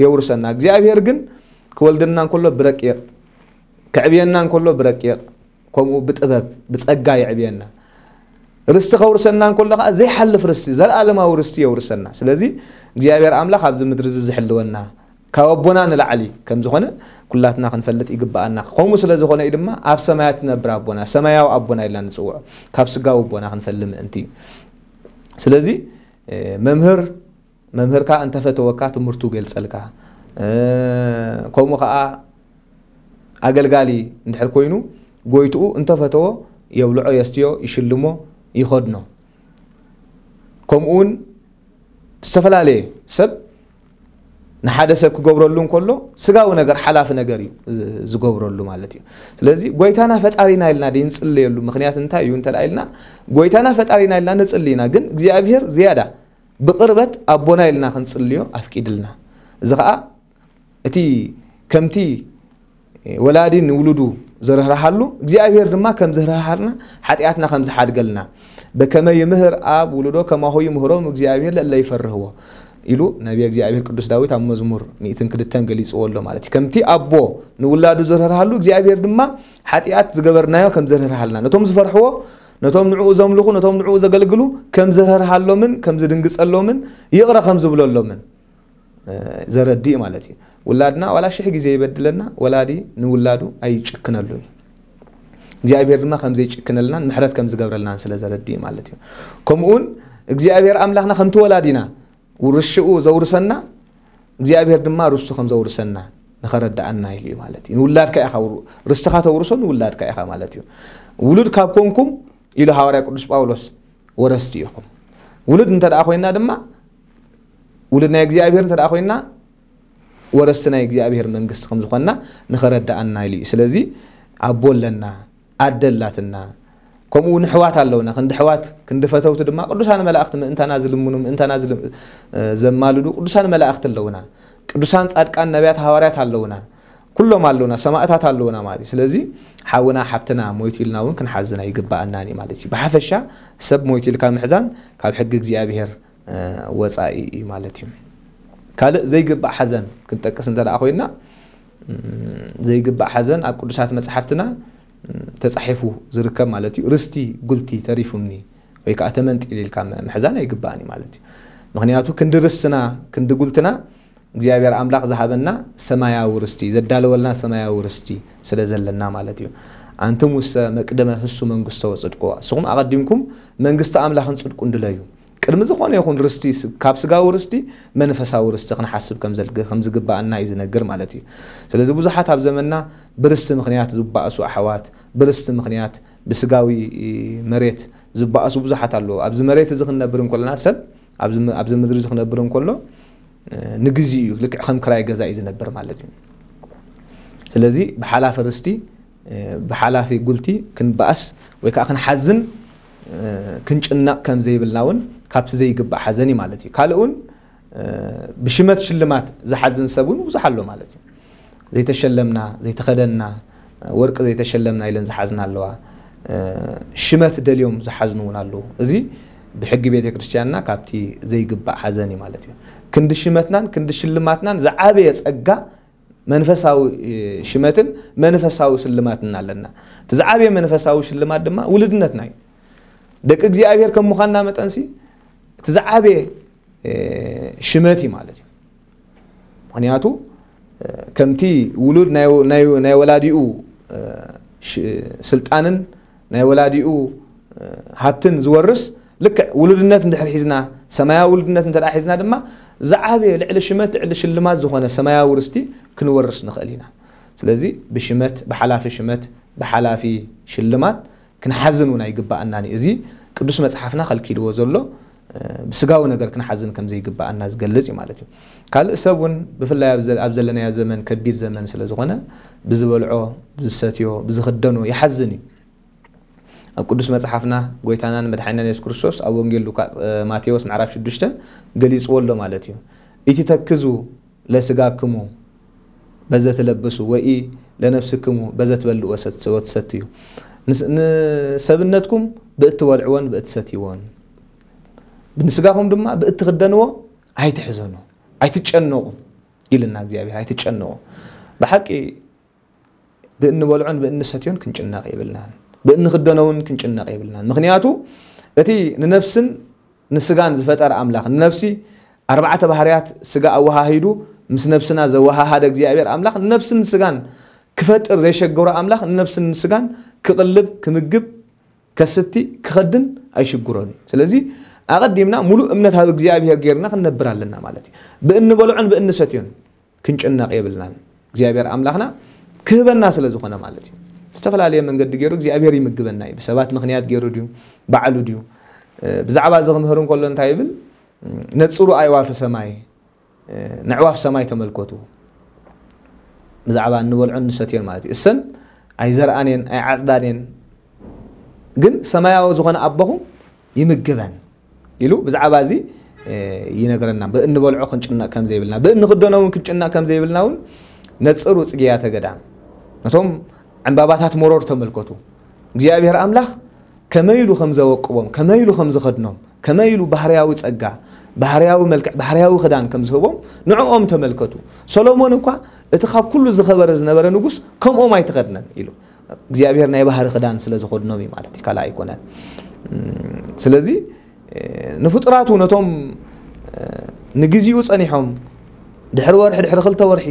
የውርሰና። እግዚኣብሔር ግን ክወልደና እንከሎ ብረቂቕ፣ ከዕብየና እንከሎ ብረቂቕ፣ ከምኡ ብጥበብ፣ ብጸጋ የዕብየና። ርስቲ ከውርሰና እንከሎ ከኣ ዘይሓልፍ ርስቲ፣ ዘለኣለማዊ ርስቲ የውርሰና። ስለዚ እግዚኣብሔር ኣምላኽ ኣብዚ ምድሪ እዚ ዝሕልወና፣ ካብ ኣቦና ንላዕሊ ከም ዝኾነ ኩላትና ክንፈልጥ ይግብኣና። ከምኡ ስለ ዝኾነ እዩ ድማ ኣብ ሰማያት ትነብር ኣቦና፣ ሰማያዊ ኣቦና ኢልና ንጽውዖ፣ ካብ ስጋዊ ኣቦና ክንፈሊ ምእንቲ እዩ። ስለዚ፣ እ፣ መምህር፣ መምህርካ እንተፈተወካ ትምህርቱ ገልጸልካ፣ እ፣ ከምኡ ከኣ ኣገልጋሊ እንድሕር ኮይኑ ጎይትኡ እንተፈተዎ የብልዖ፣ የስትዮ፣ ይሽልሞ፣ ይኸድኖ። ከምኡ እውን ዝተፈላለየ ሰብ ንሓደ ሰብ ክገብረሉ እንከሎ ስጋዊ ነገር ሓላፊ ነገር እዩ፣ እ፣ ዝገብረሉ ማለት እዩ። ስለዚ ጎይታና ፈጣሪና ኢልና ድዩ ንጽልየሉ? ምኽንያት እንታይ እዩ እንተ ደኣ ኢልና፣ ጎይታና ፈጣሪና ኢልና ንጽሊ ኢና፣ ግን እግዚኣብሔር ዝያዳ ብቕርበት ኣቦና ኢልና ክንጽልዮ ኣፍቂድልና። እዚ ኸኣ እቲ ከምቲ ወላዲ ንውሉዱ ዝርህርሃሉ፣ እግዚኣብሔር ድማ ከም ዝርህሃልና፣ ሓጢኣትና ከም ዝሓድገልና፣ በከመ ይምህር ኣብ ውሉዶ ከማሁ ይምህሮም እግዚኣብሔር ለእለ ይፈርህዎ ኢሉ ነቢየ እግዚኣብሔር ቅዱስ ዳዊት ኣብ መዝሙር ሚእትን ክልተን ገሊጽዎ ኣሎ ማለት እዩ። ከምቲ ኣቦ ንውላዱ ዝርህርሃሉ፣ እግዚኣብሔር ድማ ሓጢኣት ዝገበርናዮ ከም ዝርህርሃልና፣ ነቶም ዝፈርሕዎ፣ ነቶም ንዕኡ ዘምልኹ፣ ነቶም ንዕኡ ዘገልግሉ ከም ዝርህርሃሎምን ከም ዝድንግጸሎምን ይቕረ ከም ዝብለሎምን፣ እ፣ ዘረድእ ማለት እዩ። ውላድና ዋላ ሽሕ ግዜ ይበድለና፣ ወላዲ ንውላዱ ኣይጭክነሉን እዩ። እግዚኣብሔር ድማ ከም ዘይጭክነልናን ምሕረት ከም ዝገብረልናን ስለ ዘረድእ ማለት እዩ። ከምኡውን እግዚኣብሔር ኣምላኽና ከምቲ ወላዲና ውርሽኡ ዘውርሰና፣ እግዚኣብሔር ድማ ርስቱ ከም ዘውርሰና ንኸረድኣና ኢሉ እዩ ማለት እዩ። ንውላድካ ኢኻ ውር-፣ ርስትኻ ተውርሶ ንውላድካ ኢኻ ማለት እዩ። ውሉድ ካብ ኮንኩም ኢሉ ሃዋርያ ቅዱስ ጳውሎስ፣ ወረስቲ ኢኹም። ውሉድ እንተ ደኣ ኮይና ድማ፣ ውሉድ ናይ እግዚኣብሔር እንተ ደኣ ኮይና፣ ወረስቲ ናይ እግዚኣብሔር መንግስቲ ከም ዝኾንና ንኸረድኣና ኢሉ እዩ። ስለዚ ኣቦ ኣለና፣ ኣደ ኣላትና፣ ከምኡ እውን ኣሕዋት ኣለውና። ክንዲ ኣሕዋት፣ ክንዲ ፈተውቲ ድማ ቅዱሳን መላእኽቲ ምእንታና ዝልምኑ፣ ምእንታና ዝል-፣ እ፣ ዘማልዱ ቅዱሳን መላእኽቲ ኣለውና። ቅዱሳን ጻድቃን ነቢያት ሃዋርያት ኣለውና። ኩሎም ኣለውና፣ ሰማእታት ኣለውና ማለት እዩ። ስለዚ ሓውና ሓፍትና ሞይቱ ኢልና እውን ክንሓዝን ኣይግብኣናን እዩ ማለት እዩ። ብሓፈሻ ሰብ ሞይቱ ኢልካ ምሕዛን ካብ ሕጊ እግዚኣብሔር፣ እ፣ ወጻኢ እዩ ማለት እዩ። ካልእ ዘይግባእ ሓዘን ክንጠቅስ እንተ ደኣ ኮይና፣ እም፣ ዘይግባእ ሓዘን ኣብ ቅዱሳት መጽሓፍትና፣ እም፣ ተጻሒፉ ዝርከብ ማለት እዩ። ርስቲ ጉልቲ ተሪፉኒ ወይ ከኣ ተመንጢሉ ኢልካ ም-፣ ምሕዛን ኣይግባእን እዩ ማለት እዩ። ምኽንያቱ ክንዲ ርስትና፣ ክንዲ ጉልትና እግዚኣብሔር ኣምላኽ ዝሃበና ሰማያዊ ርስቲ፣ ዘዳለወልና ሰማያዊ ርስቲ ስለ ዘለና ማለት እዩ። ኣንትሙሰ መቅደመ ህሱ መንግስቶ ወጽድቆ፣ ንስኹም ኣቐዲምኩም መንግስቲ ኣምላኽን ጽድቁን ድለዩ። ቅድሚ ዝኾነ ይኹን ርስቲ ስ-፣ ካብ ስጋዊ ርስቲ መንፈሳዊ ርስቲ ክንሓስብ ከም ዘልግ-፣ ከም ዝግባኣና እዩ ዝነግር ማለት እዩ። ስለዚ ብዙሓት ኣብ ዘመንና ብርስቲ ምኽንያት ዝባእሱ ኣሕዋት፣ ብርስቲ ምኽንያት ብስጋዊ መሬት ዝባእሱ ብዙሓት ኣለዉ። ኣብዚ መሬት እዚ ክንነብር እንከለና ሰብ ኣብዚ ም-፣ ኣብዚ ምድሪ እዚ ክነብር እንከሎ፣ እ፣ ንግዜኡ እዩ፣ ልክዕ ከም ክራይ ገዛ እዩ ዝነብር ማለት እዩ። ስለዚ ብሓላፊ ርስቲ፣ እ፣ ብሓላፊ ጉልቲ ክንበኣስ ወይ ከዓ ክንሓዝን፣ እ፣ ክንጭነቕ ከም ዘይብልና እውን ካብቲ ዘይግባእ ሓዘን እዩ ማለት እዩ። ካልእ እውን፣ እ፣ ብሽመት ሽልማት ዝሓዝን ሰብ እውን ብዙሕ ኣሎ ማለት እዩ። ዘይተሸለምና፣ ዘይተኸደንና፣ ወርቂ ዘይተሸለምና ኢለን ዝሓዝና ኣለዋ። እ፣ ሽመት ደልዮም ዝሓዝኑ እውን ኣለዉ። እዚ ብሕጊ ቤተ ክርስቲያንና ካብቲ ዘይግባእ ሓዘን እዩ ማለት እዩ። ክንዲ ሽመትናን ክንዲ ሽልማትናን ዝዓበየ ጸጋ መንፈሳዊ፣ እ፣ ሽመትን መንፈሳዊ ስልማትን ኣለና። እቲ ዝዓበየ መንፈሳዊ ሽልማት ድማ ውልድነትና እዩ። ደቂ እግዚኣብሔር ከም ምዃንና መጠንሲ እቲ ዝዓበየ፣ እ፣ ሽመት እዩ ማለት እዩ። ምኽንያቱ፣ እ፣ ከምቲ ውሉድ ናይ፣ ናይ፣ ናይ ወላዲኡ፣ እ፣ ሽ-፣ ስልጣንን ናይ ወላዲኡ፣ እ፣ ሃብትን ዝወርስ፣ ልክዕ ውሉድነት እንድሕር ሒዝና፣ ሰማያዊ ውሉድነት እንተ ደኣ ሒዝና ድማ፣ ዝዓበየ ልዕሊ ሽመት፣ ልዕሊ ሽልማት ዝኾነ ሰማያዊ ርስቲ ክንወርስ ንኽእል ኢና። ስለዚ ብሽመት፣ ብሓላፊ ሽመት፣ ብሓላፊ ሽልማት ክንሓዝን እውን ኣይግባኣናን እዩ። እዚ ቅዱስ መጽሓፍና ከልኪልዎ ዘሎ፣ እ፣ ብስጋዊ ነገር ክንሓዝን ከም ዘይግባኣና ዝገልጽ እዩ ማለት እዩ። ካልእ ሰብ እውን ብፍላይ ኣብ ዘ-፣ ኣብ ዘለናዮ ዘመን ከቢድ ዘመን ስለ ዝኾነ ብዝበልዖ፣ ብዝሰትዮ፣ ብዝኽደኖ ይሓዝን እዩ። ኣብ ቅዱስ መጽሓፍና ጎይታናን መድሓኒናን የሱስ ክርስቶስ ኣብ ወንጌል ሉቃ-፣ እ፣ ማቴዎስ ምዕራፍ ሽዱሽተ ገሊጽዎ ኣሎ ማለት እዩ። ኢትተክዙ ለስጋክሙ በዘ ትለብሱ ወኢ ለነፍስክሙ በዘ ትበልዑ ወሰት-፣ ወትሰትዩ። ንስ-፣ ንሰብነትኩም ብእትበልዕዎን ብእትሰትይዎን፣ ብንስጋኹም ድማ ብእትኽደንዎ ኣይትሕዘኑ፣ ኣይትጨነቑ ኢልና እግዚኣብሔር። ኣይትጨነቑ። ብሓቂ ብእንበልዖን ብእንሰትዮን ክንጭነቕ የብልናን። ብእንኽደኖ እውን ክንጭነቕ የብልናን። ምኽንያቱ እቲ ንነፍስን ንስጋን ዝፈጠረ ኣምላኽ፣ ንነፍሲ ኣርባዕተ ባህርያት ስጋ ኣወሃሂዱ ምስ ነፍስና ዘወሃሃደ እግዚኣብሔር ኣምላኽ ንነፍስን ንስጋን ክፈጥር ዘይሸገሮ ኣምላኽ ንነፍስን ንስጋን ክቕልብ፣ ክምግብ፣ ከስቲ፣ ክኸድን ኣይሽግሮን እዩ። ስለዚ ኣቐዲምና ሙሉእ እምነት ኣብ እግዚኣብሔር ጌርና ክንነብር ኣለና ማለት እዩ። ብእንበልዖን ብእንሰትዮን ክንጭነቕ የብልናን። እግዚኣብሔር ኣምላኽና ክህበና ስለ ዝኾነ ማለት እዩ። ዝተፈላለየ መንገዲ ገይሩ እግዚኣብሔር ይምግበና እዩ። ብሰባት ምኽንያት ገይሩ ድዩ? ባዕሉ ድዩ? እ፣ ብዛዕባ እዚ ክምህር እንከሎ እንታይ ይብል? ነጽሩ ኣዕዋፈ ሰማይ፣ እ፣ ነዕዋፍ ሰማይ ተመልከቱ። ብዛዕባ እንበልዖን ንሰትዮን ማለት እዩ። እሰን ኣይዘርኣን እየን፣ ኣይዓጽዳን እየን፣ ግን ሰማያዊ ዝኾነ ኣቦኹም ይምግበን ኢሉ ብዛዕባ እዚ፣ እ፣ ይነግረና። ብእንበልዖ ክንጭነቕ ከም ዘይብልና፣ ብእንኽደኖ እውን ክንጭነቕ ከም ዘይብልና እውን ነጽሩ ጽጌያተ ገዳም። ነቶም ዕምባባታት መሮር ተመልከቱ። እግዚኣብሔር ኣምላኽ ከመይ ኢሉ ከም ዘወቅቦም፣ ከመይ ኢሉ ከም ዝኸድኖም፣ ከመይ ኢሉ ባህርያዊ ጸጋ፣ ባህርያዊ መልክዕ፣ ባህርያዊ ክዳን ከም ዝህቦም ንዕኦም ተመልከቱ። ሰሎሞን እኳ እቲ ካብ ኩሉ ዝኸበረ ዝነበረ ንጉስ ከምኦም ኣይተኸድነን ኢሉ። እግዚኣብሔር ናይ ባህሪ ክዳን ስለ ዝኸድኖም እዩ ማለት እዩ፣ ካልእ ኣይኮነን። እም፣ ስለዚ፣ እ፣ ንፍጡራቱ ነቶም፣ እ፣ ንግዚኡ ጸኒሖም ድሕሪ ወርሒ፣ ድሕሪ ክልተ ወርሒ፣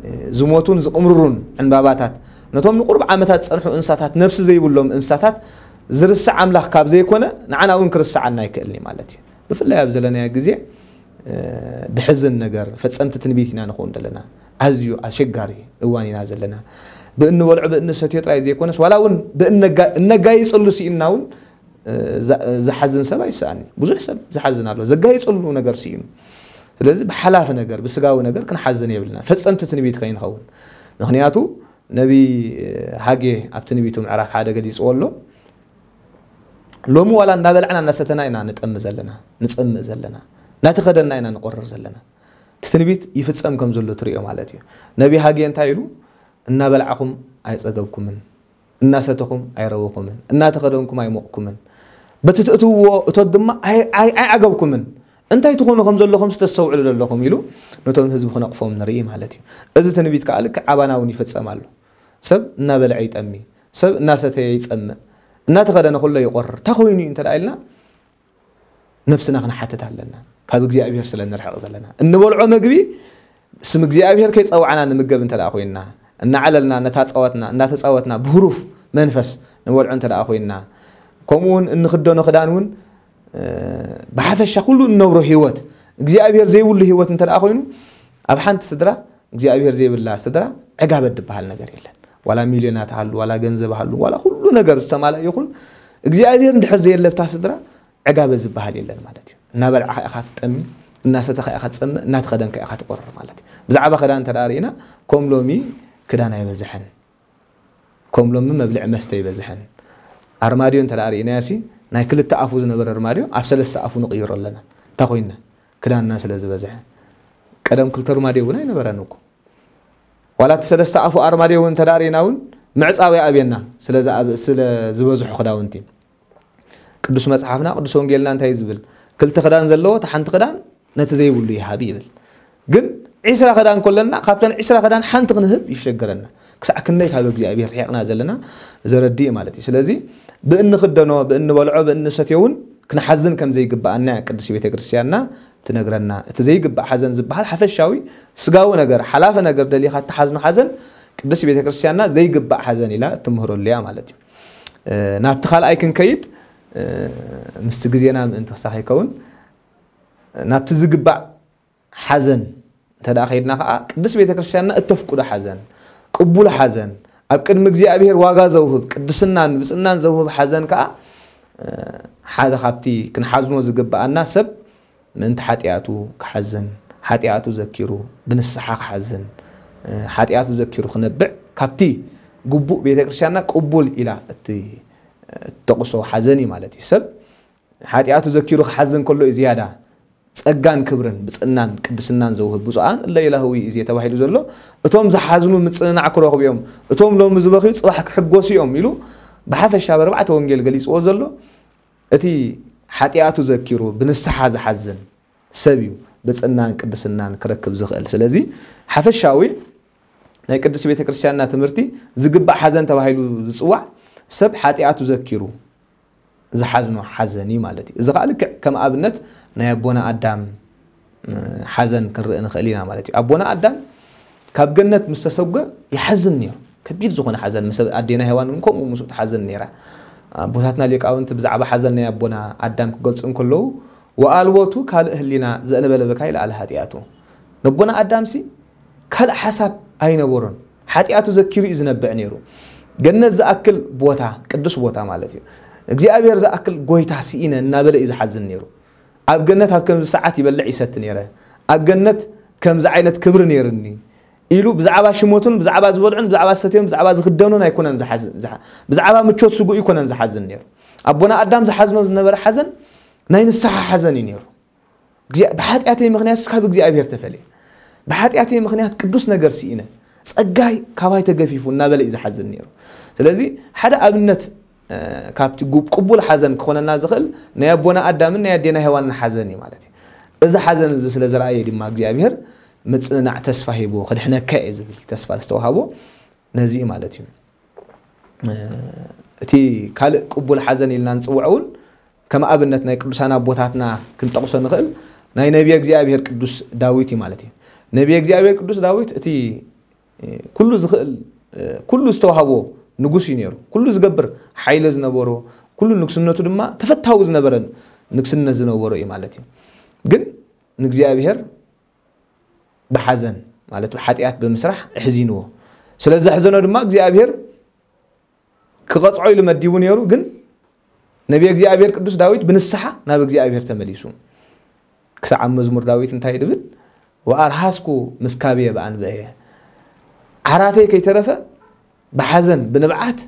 እ፣ ዝሞቱን ዝቕምርሩን ዕንባባታት፣ ነቶም ንቁሩብ ዓመታት ዝጸንሑ እንስሳታት፣ ነፍሲ ዘይብሎም እንስሳታት ዝርስዕ ኣምላኽ ካብ ዘይኮነ ንዓና እውን ክርስዓና ኣይክእልን እዩ ማለት እዩ። ብፍላይ ኣብ ዘለናዮ ግዜ፣ እ፣ ድሕዝን ነገር፣ ፈጸምቲ ትንቢት ኢና ንኸውን ዘለና። ኣዝዩ ኣሸጋሪ እዋን ኢና ዘለና። ብእንበልዖ ብእንሰትዮ ጥራይ ዘይኮነስ፣ ዋላ እውን ብእነጋ-፣ እነጋይጸሉ ስኢንና እውን፣ እ፣ ዛ-፣ ዝሓዝን ሰብ ኣይሰኣን እዩ። ብዙሕ ሰብ ዝሓዝን ኣሎ። ዘጋይጸሉ ነገር ስኢኑ። ስለዚ ብሓላፊ ነገር፣ ብስጋዊ ነገር ክንሓዝን የብልና። ፈጸምቲ ትንቢት ከይንኸውን። ምኽንያቱ ነቢ ሃጌ ኣብ ትንቢቱ ምዕራፍ ሓደ ገሊጽዎ ኣሎ። ሎሚ ዋላ እንዳበላዕና እናሰተና ኢና ንጠሚ ዘለና፣ ንጸምእ ዘለና፣ እናተኸደና ኢና ንቆርር ዘለና። እቲ ትንቢት ይፍጸም ከም ዘሎ ትርእዮ ማለት እዩ። ነቢ ሃጌ እንታይ ኢሉ? እናበላዕኹም ኣይጸገብኩምን፣ እናሰተኹም ኣይረወኹምን፣ እናተኸደንኩም ኣይሞቕኩምን፣ በቲ ትእትውዎ እቶት ድማ ኣይ-፣ ኣይ-፣ ኣይዓገብኩምን። እንታይ ትኾኑ ከም ዘለኹም ዝተስተውዕሉ ዘለኹም ኢሉ ነቶም ህዝቢ ክነቕፎም ንርኢ ማለት እዩ። እዚ ትንቢት ከኣ ልክዕ ኣባና እውን ይፍጸም ኣሎ። ሰብ እናበልዐ ይጠሚ፣ ሰብ እናሰተየ ይጸምእ፣ እናተኸደነ ኩሎ ይቆርር። እንታይ ኮይኑ እዩ እንተ ደኣ ኢልና፣ ነብስና ክንሓትት ኣለና። ካብ እግዚኣብሔር ስለ ንርሕቕ ዘለና። እንበልዖ መግቢ ስም እግዚኣብሔር ከይጸዋዕና ንምገብ እንተ ደኣ ኮይንና፣ እናዓለልና፣ እናተጻወትና፣ እናተጻወትና ብህሩፍ መንፈስ ንበልዖ እንተ ደኣ ኮይንና፣ ከምኡ እውን እንኽደኖ ክዳን እውን፣ እ፣ ብሓፈሻ ኩሉ እንነብሮ ህይወት፣ እግዚኣብሔር ዘይብሉ ህይወት እንተ ደኣ ኮይኑ፣ ኣብ ሓንቲ ስድራ እግዚኣብሔር ዘይብላ ስድራ ዕጋበት ዝበሃል ነገር የለን። ዋላ ሚልዮናት ሃሉ፣ ዋላ ገንዘብ ሃሉ፣ ዋላ ኩሉ ነገር ዝተማልአ ይኹን፣ እግዚኣብሔር እንድሕር ዘየለብታ ስድራ ዕጋበት ዝበሃል የለን ማለት እዩ። እናበልዕኻ ኢኻ ትጠሚ፣ እናሰተኻ ኢኻ ትጸምእ፣ እናተኸደንካ ኢኻ ትቆርር ማለት እዩ። ብዛዕባ ክዳን እንተ ደኣ ርኢና፣ ከም ሎሚ ክዳን ኣይበዝሐን። ከም ሎሚ መብልዒ መስተ ኣይበዝሐን። ኣርማድዮ እንተ ደኣ ርኢናዮሲ፣ ናይ ክልተ ኣፉ ዝነበረ ኣርማድዮ ኣብ ሰለስተ ኣፉ ንቕይሮ ኣለና። እንታይ ኮይንና? ክዳንና ስለ ዝበዝሐ። ቀደም ክልተ ኣርማድዮ እውን ኣይነበረን እኮ። ዋላ እቲ ሰለስተ ኣፉ ኣርማድዮ እውን እንተ ደኣ ርኢና እውን ምዕጻው ይኣብየና፣ ስለ ዝኣብ-፣ ስለ ዝበዝሑ ክዳውንቲ። ቅዱስ መጽሓፍና፣ ቅዱስ ወንጌልና እንታይ እዩ ዝብል? ክልተ ክዳን ዘለዎ፣ እታ ሓንቲ ክዳን ነቲ ዘይብሉ ይሃብ ይብል። ግን ዒስራ ክዳን ከለና፣ ካብተን ዒስራ ክዳን ሓንቲ ክንህብ ይሸገረና። ክሳዕ ክንደይ ካብ እግዚኣብሔር ርሒቕና ዘለና ዘረድእ ማለት እዩ። ስለዚ ብእንኽደኖ፣ ብእንበልዖ፣ ብእንሰትዮ እውን ክንሓዝን ከም ዘይግብኣና እያ ቅድስት ቤተ ክርስቲያንና ትነግረና። እቲ ዘይግባእ ሓዘን ዝበሃል ሓፈሻዊ ስጋዊ ነገር፣ ሓላፊ ነገር ደሊኻ እትሓዝኖ ሓዘን ቅድስት ቤተ ክርስቲያንና ዘይግባእ ሓዘን ኢላ እትምህረሉ እያ ማለት እዩ። እ፣ ናብቲ ካልኣይ ክንከይድ፣ እ፣ ምስቲ ግዜና ምእንቲ ክሳኽ ይከውን፣ ናብቲ ዝግባእ ሓዘን እንተ ደኣ ከይድና ከኣ፣ ቅድስት ቤተ ክርስቲያንና እተፍቅዶ ሓዘን፣ ቅቡል ሓዘን፣ ኣብ ቅድሚ እግዚኣብሔር ዋጋ ዘውህብ፣ ቅድስናን ብጽናን ዘውህብ ሓዘን ከኣ፣ እ፣ ሓደ ካብቲ ክንሓዝኖ ዝግብኣና ሰብ ምእንቲ ሓጢኣቱ ክሓዝን፣ ሓጢኣቱ ዘኪሩ ብንስሓ ክሓዝን፣ እ፣ ሓጢኣቱ ዘኪሩ ክነብዕ፣ ካብቲ ግቡእ ቤተ ክርስቲያንና ቅቡል ኢላ እቲ፣ እትጠቕሶ ሓዘን እዩ ማለት እዩ። ሰብ ሓጢኣቱ ዘኪሩ ክሓዝን ከሎ እዩ ዝያዳ ጸጋን ክብርን ብጽእናን ቅድስናን ዘውህብ ብፁዓን እለ ይላህዊ እዜ ተባሂሉ ዘሎ፣ እቶም ዝሓዝኑ ምጽንናዕ ክረኽቡ እዮም፣ እቶም ሎሚ ዝበኽዩ ጽባሕ ክሕጎሱ እዮም ኢሉ ብሓፈሻ በርባዕተ ወንጌል ገሊጽዎ ዘሎ፣ እቲ ሓጢኣቱ ዘኪሩ ብንስሓ ዝሓዝን ሰብ እዩ ብጽእናን ቅድስናን ክረክብ ዝኽእል። ስለዚ ሓፈሻዊ ናይ ቅድስት ቤተ ክርስቲያንና ትምህርቲ ዝግባእ ሓዘን ተባሂሉ ዝጽዋዕ ሰብ ሓጢኣቱ ዘኪሩ ዝሓዝኖ ሓዘን እዩ ማለት እዩ። እዚ ከዓ ልክዕ ከም ኣብነት ናይ ኣቦና ኣዳም ሓዘን ክንርኢ ንኽእል ኢና ማለት እዩ። ኣቦና ኣዳም ካብ ገነት ምስ ተሰጎ ይሓዝን ነይሩ። ከቢድ ዝኾነ ሓዘን፣ ምስ ኣዴና ሄዋን እውን ከምኡ ምስኡ ትሓዝን ነይራ። ኣቦታትና ሊቃውንቲ ብዛዕባ ሓዘን ናይ ኣቦና ኣዳም ክገልጹ እንከለዉ፣ ወኣልቦቱ ካልእ ህሊና ዘእንበለ ብካ ይለኣል ሓጢኣቱ። ነቦና ኣዳምሲ ካልእ ሓሳብ ኣይነበሮን። ሓጢኣቱ ዘኪሩ እዩ ዝነብዕ ነይሩ። ገነት ዝኣክል ቦታ፣ ቅዱስ ቦታ ማለት እዩ። እግዚኣብሔር ዝኣክል ጎይታ ስኢነ እናበለ እዩ ዝሓዝን ነይሩ። ኣብ ገነት ኣብ ከምዚ ሰዓት ይበልዕ ይሰቲ ነይረ፣ ኣብ ገነት ከምዚ ዓይነት ክብሪ ነይርኒ ኢሉ ብዛዕባ ሽሞቱን ብዛዕባ ዝበልዑን ብዛዕባ ዝሰትዮን ብዛዕባ ዝኽደኑን ኣይኮነን ዝሓዝ- ዝሓ- ብዛዕባ ምቾት ስጉ ይኮነን ዝሓዝን ነይሩ። ኣቦና ኣዳም ዝሓዝኖ ዝነበረ ሓዘን ናይ ንስሓ ሓዘን እዩ ነይሩ። ብሓጢኣተይ ምኽንያት ካብ እግዚኣብሔር ተፈልየ፣ ብሓጢኣተይ ምኽንያት ቅዱስ ነገር ስኢነ፣ ጸጋይ ካባይ ተገፊፉ እናበለ እዩ ዝሓዝን ነይሩ። ስለዚ ሓደ ኣብነት ካብቲ ቅቡል ሓዘን ክኾነና ዝኽእል ናይ ኣቦና ኣዳምን ናይ ኣዴና ሄዋንን ሓዘን እዩ ማለት እዩ። እዚ ሓዘን እዚ ስለ ዝረኣየ ድማ እግዚኣብሔር ምጽንናዕ ተስፋ ሂቦ ክድሕነካ እየ ዝብል ተስፋ ዝተዋሃቦ ነዚ እዩ ማለት እዩ። እቲ ካልእ ቅቡል ሓዘን ኢልና ንጽውዖ እውን ከም ኣብነት ናይ ቅዱሳን ኣቦታትና ክንጠቕሶ ንኽእል ናይ ነቢየ እግዚኣብሔር ቅዱስ ዳዊት እዩ ማለት እዩ። ነቢየ እግዚኣብሔር ቅዱስ ዳዊት እቲ ኩሉ ዝኽእል ኩሉ ዝተዋህቦ ንጉስ እዩ ነይሩ። ኩሉ ዝገብር ሓይሊ ዝነበሮ፣ ኩሉ ንግስነቱ ድማ ተፈታዊ ዝነበረ ንግስነት ዝነበሮ እዩ ማለት እዩ። ግን ንእግዚኣብሔር ብሓዘን ማለት ብሓጢኣት ብምስራሕ ኣሕዚንዎ። ስለ ዘሕዘኖ ድማ እግዚኣብሔር ክቐጽዖ ኢሉ መዲቡ ነይሩ። ግን ነቢየ እግዚኣብሔር ቅዱስ ዳዊት ብንስሓ ናብ እግዚኣብሔር ተመሊሱ። ክሳዕ ኣብ መዝሙር ዳዊት እንታይ ድብል? ወኣርሃስኩ ምስካብየ ብኣንብዕየ፣ ዓራተይ ከይተረፈ ብሓዘን ብንብዓት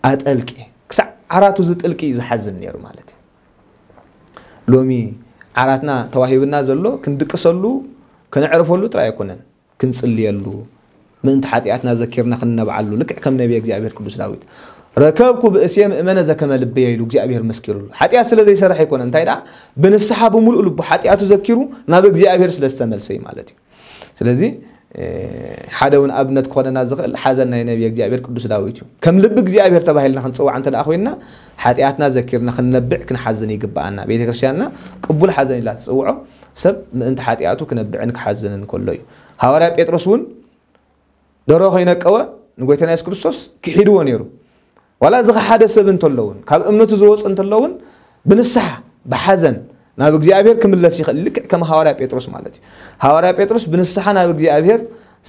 ኣጠልቂ። ክሳዕ ዓራቱ ዝጥልቂ እዩ ዝሓዝን ነይሩ ማለት እዩ። ሎሚ ዓራትና ተዋሂብና ዘሎ ክንድቅሰሉ፣ ከነዕርፈሉ ጥራይ ኣይኮነን፣ ክንጽልየሉ፣ ምእንቲ ሓጢኣትና ዘኪርና ክንነብዓሉ፣ ልክዕ ከም ነቢየ እግዚኣብሔር ቅዱስ ዳዊት፣ ረከብኩ ብእሴ ምእመነ ዘከመ ልብየ ኢሉ እግዚኣብሔር መስኪሩሉ። ሓጢኣት ስለ ዘይሰርሐ ኣይኮነ፣ እንታይ ደኣ ብንስሓ ብምሉእ ልቡ ሓጢኣቱ ዘኪሩ ናብ እግዚኣብሔር ስለ ዝተመልሰ እዩ ማለት እዩ። ስለዚ ሓደ እውን ኣብነት ክኾነና ዝኽእል ሓዘን ናይ ነቢየ እግዚኣብሔር ቅዱስ ዳዊት እዩ። ከም ልቢ እግዚኣብሔር ተባሂልና ክንጽዋዕ እንተ ደኣ ኮይንና ሓጢኣትና ዘኪርና ክንነብዕ ክንሓዝን ይግብኣና። ቤተ ክርስቲያንና ቅቡል ሓዘን ኢላ ትጽውዖ ሰብ ምእንቲ ሓጢኣቱ ክነብዕን ክሓዝንን ከሎ እዩ። ሃዋርያ ጴጥሮስ እውን ደሮ ከይነቀወ ንጎይታና የሱስ ክርስቶስ ክሒድዎ ነይሩ። ዋላ ዝኸሓደ ሰብ እንተሎ እውን፣ ካብ እምነቱ ዝወፀ እንተሎ እውን ብንስሓ ብሓዘን ናብ እግዚኣብሔር ክምለስ ይኽእል። ልክዕ ከም ሃዋርያ ጴጥሮስ ማለት እዩ። ሃዋርያ ጴጥሮስ ብንስሓ ናብ እግዚኣብሔር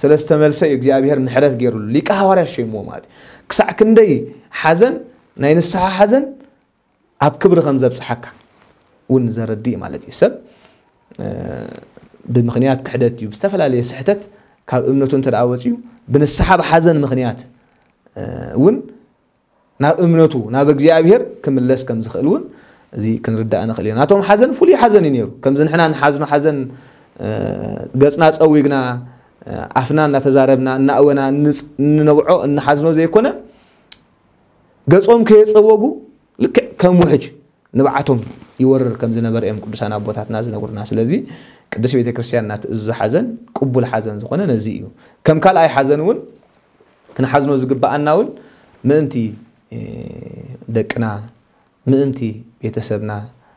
ስለ ዝተመልሰ እዩ እግዚኣብሔር ምሕረት ገይሩሉ። ሊቀ ሃዋርያ ሸይምዎ ማለት እዩ። ክሳዕ ክንደይ ሓዘን፣ ናይ ንስሓ ሓዘን ኣብ ክብሪ ከም ዘብፅሓካ እውን ዘረድእ ማለት እዩ። ሰብ ብምኽንያት ክሕደት እዩ ብዝተፈላለየ ስሕተት ካብ እምነቱ እንተ ደኣ ወፂኡ ብንስሓ ብሓዘን ምኽንያት እውን ናብ እምነቱ ናብ እግዚኣብሔር ክምለስ ከም ዝኽእል እውን እዚ ክንርዳእ ንኽእል ኢና። ናቶም ሓዘን ፍሉይ ሓዘን እዩ ነይሩ። ከምዚ ንሕና ንሓዝኖ ሓዘን ገፅና ፀዊግና ኣፍና እናተዛረብና እናእወና እንነብዖ እንሓዝኖ ዘይኮነ ገጾም ከየጸወጉ ልክዕ ከም ውሕጅ ንብዓቶም ይወርር ከም ዝነበረ እዮም ቅዱሳን ኣቦታትና ዝነግሩና። ስለዚ ቅድስት ቤተ ክርስቲያን ናትእዝዞ ሓዘን ቅቡል ሓዘን ዝኾነ ነዚ እዩ። ከም ካልኣይ ሓዘን እውን ክንሓዝኖ ዝግብኣና እውን ምእንቲ ደቅና፣ ምእንቲ ቤተሰብና፣